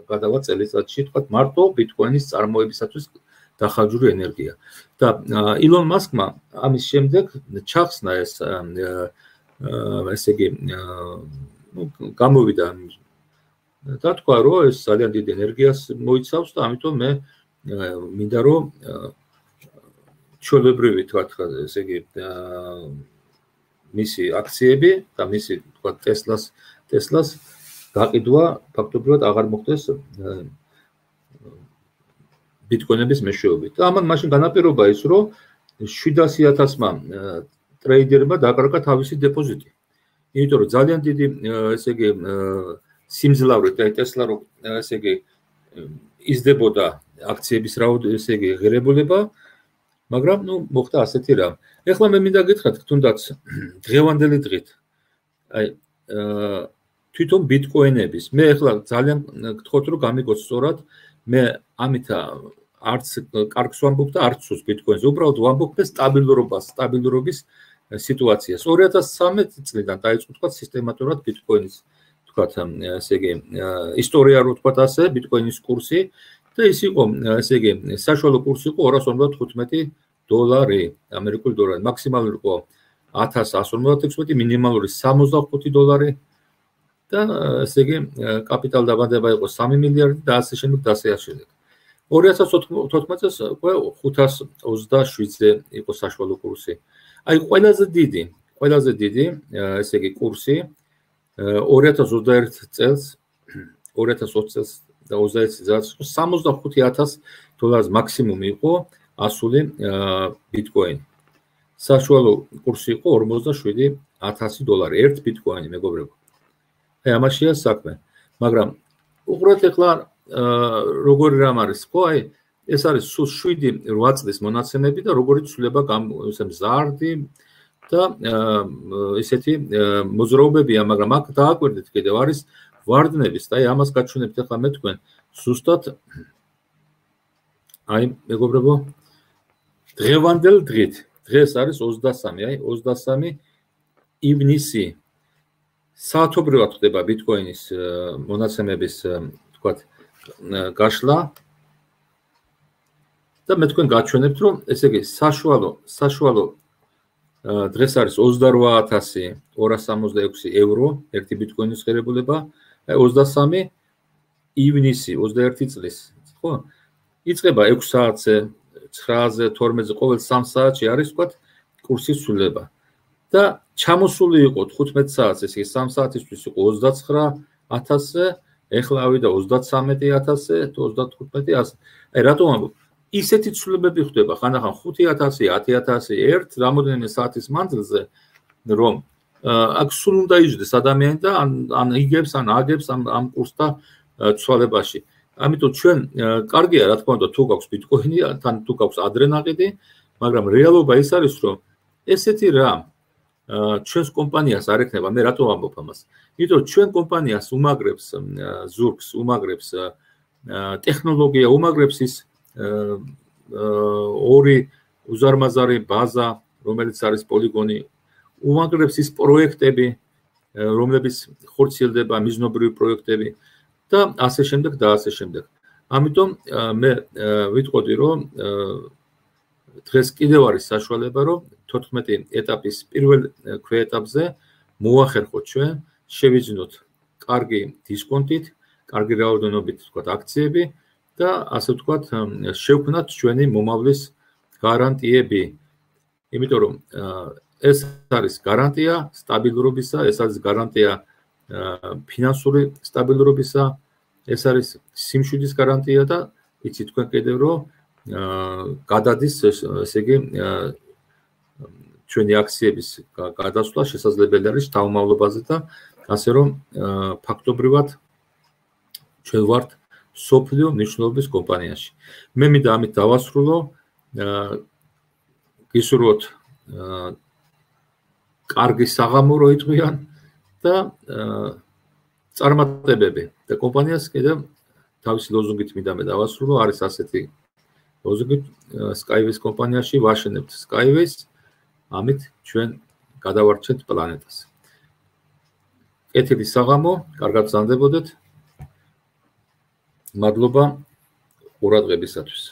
გადავა წელიწადში, თქვათ მარტო ბიტკოინის წარმოებისათვის დახარჯული ენერგია. და ილონ მასკმა ამის შემდეგ ჩახსნა ეს ესე იგი ნუ გამოვიდა და თქვა რომ ეს ძალიან დიდ ენერგიას მოიცავს და ამიტომ მე მინდა რომ ჩვეულებრივი თქვათ ესე იგი მისი აქციები და მისი თქვათ ტესლას ტესლას გაყიდვა ფაქტობრივად აღარ მოხდეს ბიტკოინების მეშვეობით. და ამან მაშინ განაპირობა ის რომ შვიდასი ათასმა ტრეიდერმა დაკარგა თავისი დეპოზიტი. იმიტომ რომ ძალიან დიდი ესე იგი სიმძლავრით და ტესლა რო ესე იგი იზრდებოდა აქციების რაოდენობა ესე იგი ღირებულება მაგრამ ნუ მოხდა ასეთი რამ. ეხლა მე მინდა გითხრათ თუნდაც დღევანდელი დღით აი თვითონ ბიტკოინების მე ეხლა ძალიან გთხოვთ რომ გამიგოთ სწორად მე ამით არც კარგს ვამბობ და არც სულს ბიტკოინზე უბრალოდ ვამბობ სტაბილურობას სტაბილურობის სიტუაციას ორი ათას ცხრამეტ წლიდან დაიწყო თქვა სისტემატურად ბიტკოინის თქვა ესე იგი ისტორია რო თქვა ასე ბიტკოინის კურსი და ის იყო ესე იგი საშუალო კურსი იყო ორას ორმოცდათხუთმეტი დოლარი ამერიკული დოლარი მაქსიმალური იყო ათას ასი ორმოცდაექვსმეტი მინიმალური სამოცდახუთი დოლარი და ესე იგი კაპიტალ დაბადება იყო სამი მილიარდი და ასე შემდეგ და ასე შემდეგ ორი ათას თოთხმეტ წელს უკვე ხუთას ოცდაშვიდზე იყო საშუალო კურსი აი ყველაზე დიდი ყველაზე დიდი ესე იგი კურსი ორი ათას ოცდაერთ წელს ორი ათას ოცი წელს და ოცდაერთი წელს სამოცდახუთი ათას დოლარს მაქსიმუმი იყო ასული ბიტკოინი საშუალო კურსი იყო ორმოცდაშვიდი ათასი დოლარი ერთ ბიტკოინი მეგობრებო აი ამაშია საქმე მაგრამ უყურეთ ეხლა როგორი რამ არის ხო აი ეს არის სულ შვიდი რვა წლის მონაცემები და როგორი ცვლილება ესე მზარდი და ესეთი მოძრაობებია მაგრამ აქ დააკვირდით კიდევ არის ვარდნების და აი ამას გაჩვენებთ ახლა მე თქვენ ზუსტად აი მეგობრებო დღევანდელ დღით დღეს არის ოცდასამი აი ოცდასამი ივნისი საათობრივად ხდება ბიტკოინის მონაცემების თქვათ გაშლა და მე თქვენ გაჩვენებთ რომ ესე იგი საშუალო საშუალო დღეს არის ოცდარვა ათასი ორას სამოცდაექვსი ევრო ერთი ბიტკოინის ღირებულება აი ოცდასამი ივნისი ოცდაერთი წლის ხო იწყება ექვს საათზე ცხრაზე თორმეტზე ყოველ სამ საათში არის ვთქვათ კურსის ცვლილება და ჩამოსული იყო თხუთმეტ საათს ესე იგი სამ საათისთვის იყო ოცდაცხრა ათასზე ეხლა ავიდა ოცდაცამეტი ათასზე ოცდათხუთმეტი ასე აი რატომ ამბობ ისეთი ცვლილებები ხდება ხანდახან ხუთი ათასი ათი ათასი ერთ რამოდენიმე საათის მანძილზე რომ აქ სულ უნდა იჯდეს ადამიანი და ან იგებს ან აგებს ამ ამ კურსთა ცვალებაში ამიტომ ჩვენ კარგია რა თქმა უნდა თუ გაქვს ბიტკოინი თან თუ გაქვს ადრენაყიდი მაგრამ რეალობა ის არის რომ ესეთი რამ ჩვენს კომპანიას არ ექნება მე რატო ვამბობ ამას იმიტომ ჩვენ კომპანიას უმაგრებს ზურგს უმაგრებს ტექნოლოგია უმაგრებს ის ორი უზარმაზარი ბაზა რომელიც არის პოლიგონი უმაგრებს ის პროექტები რომლებიც ხორციელდება მიზნობრივი პროექტები და ასე შემდეგ და ასე შემდეგ ამიტომ მე ვიტყოდი რომ დღეს კიდევ არის საშუალება რომ თოთხმეტი ეტაპის პირველ ქვეეტაპზე მოახერხოთ ჩვენ შევიძინოთ კარგი დისკონტით კარგი რაოდენობით თქვათ აქციები და ასე ვთქვათ შევქმნათ ჩვენი მომავლის გარანტიები იმიტომ რომ ეს არის გარანტია სტაბილურობისა ეს არის გარანტია ფინანსური სტაბილურობისა ეს არის სიმშვიდის გარანტია და იცით თქვენ კიდევ რომ გადადის ესე იგი ჩვენი აქციების გადასვლა შესაძლებელი არის თავმავლობაზე და ასე რომ ფაქტობრივად ჩვენ ვართ სოფლიო მნიშვნელობის კომპანიაში მე მინდა ამით დავასრულო გისურვოთ კარგი საღამო რო იტყვიან და წარმატებები და კომპანიას კიდევ თავისი ლოზუნგით მინდა მე დავასრულო არის ასეთი ლოზუნგი Skyways კომპანიაში ვაშენებთ Skyways ამით ჩვენ გადავარჩენთ პლანეტას კეთილი საღამო კარგად გრძანდებოდეთ მადლობა ყურადღებისათვის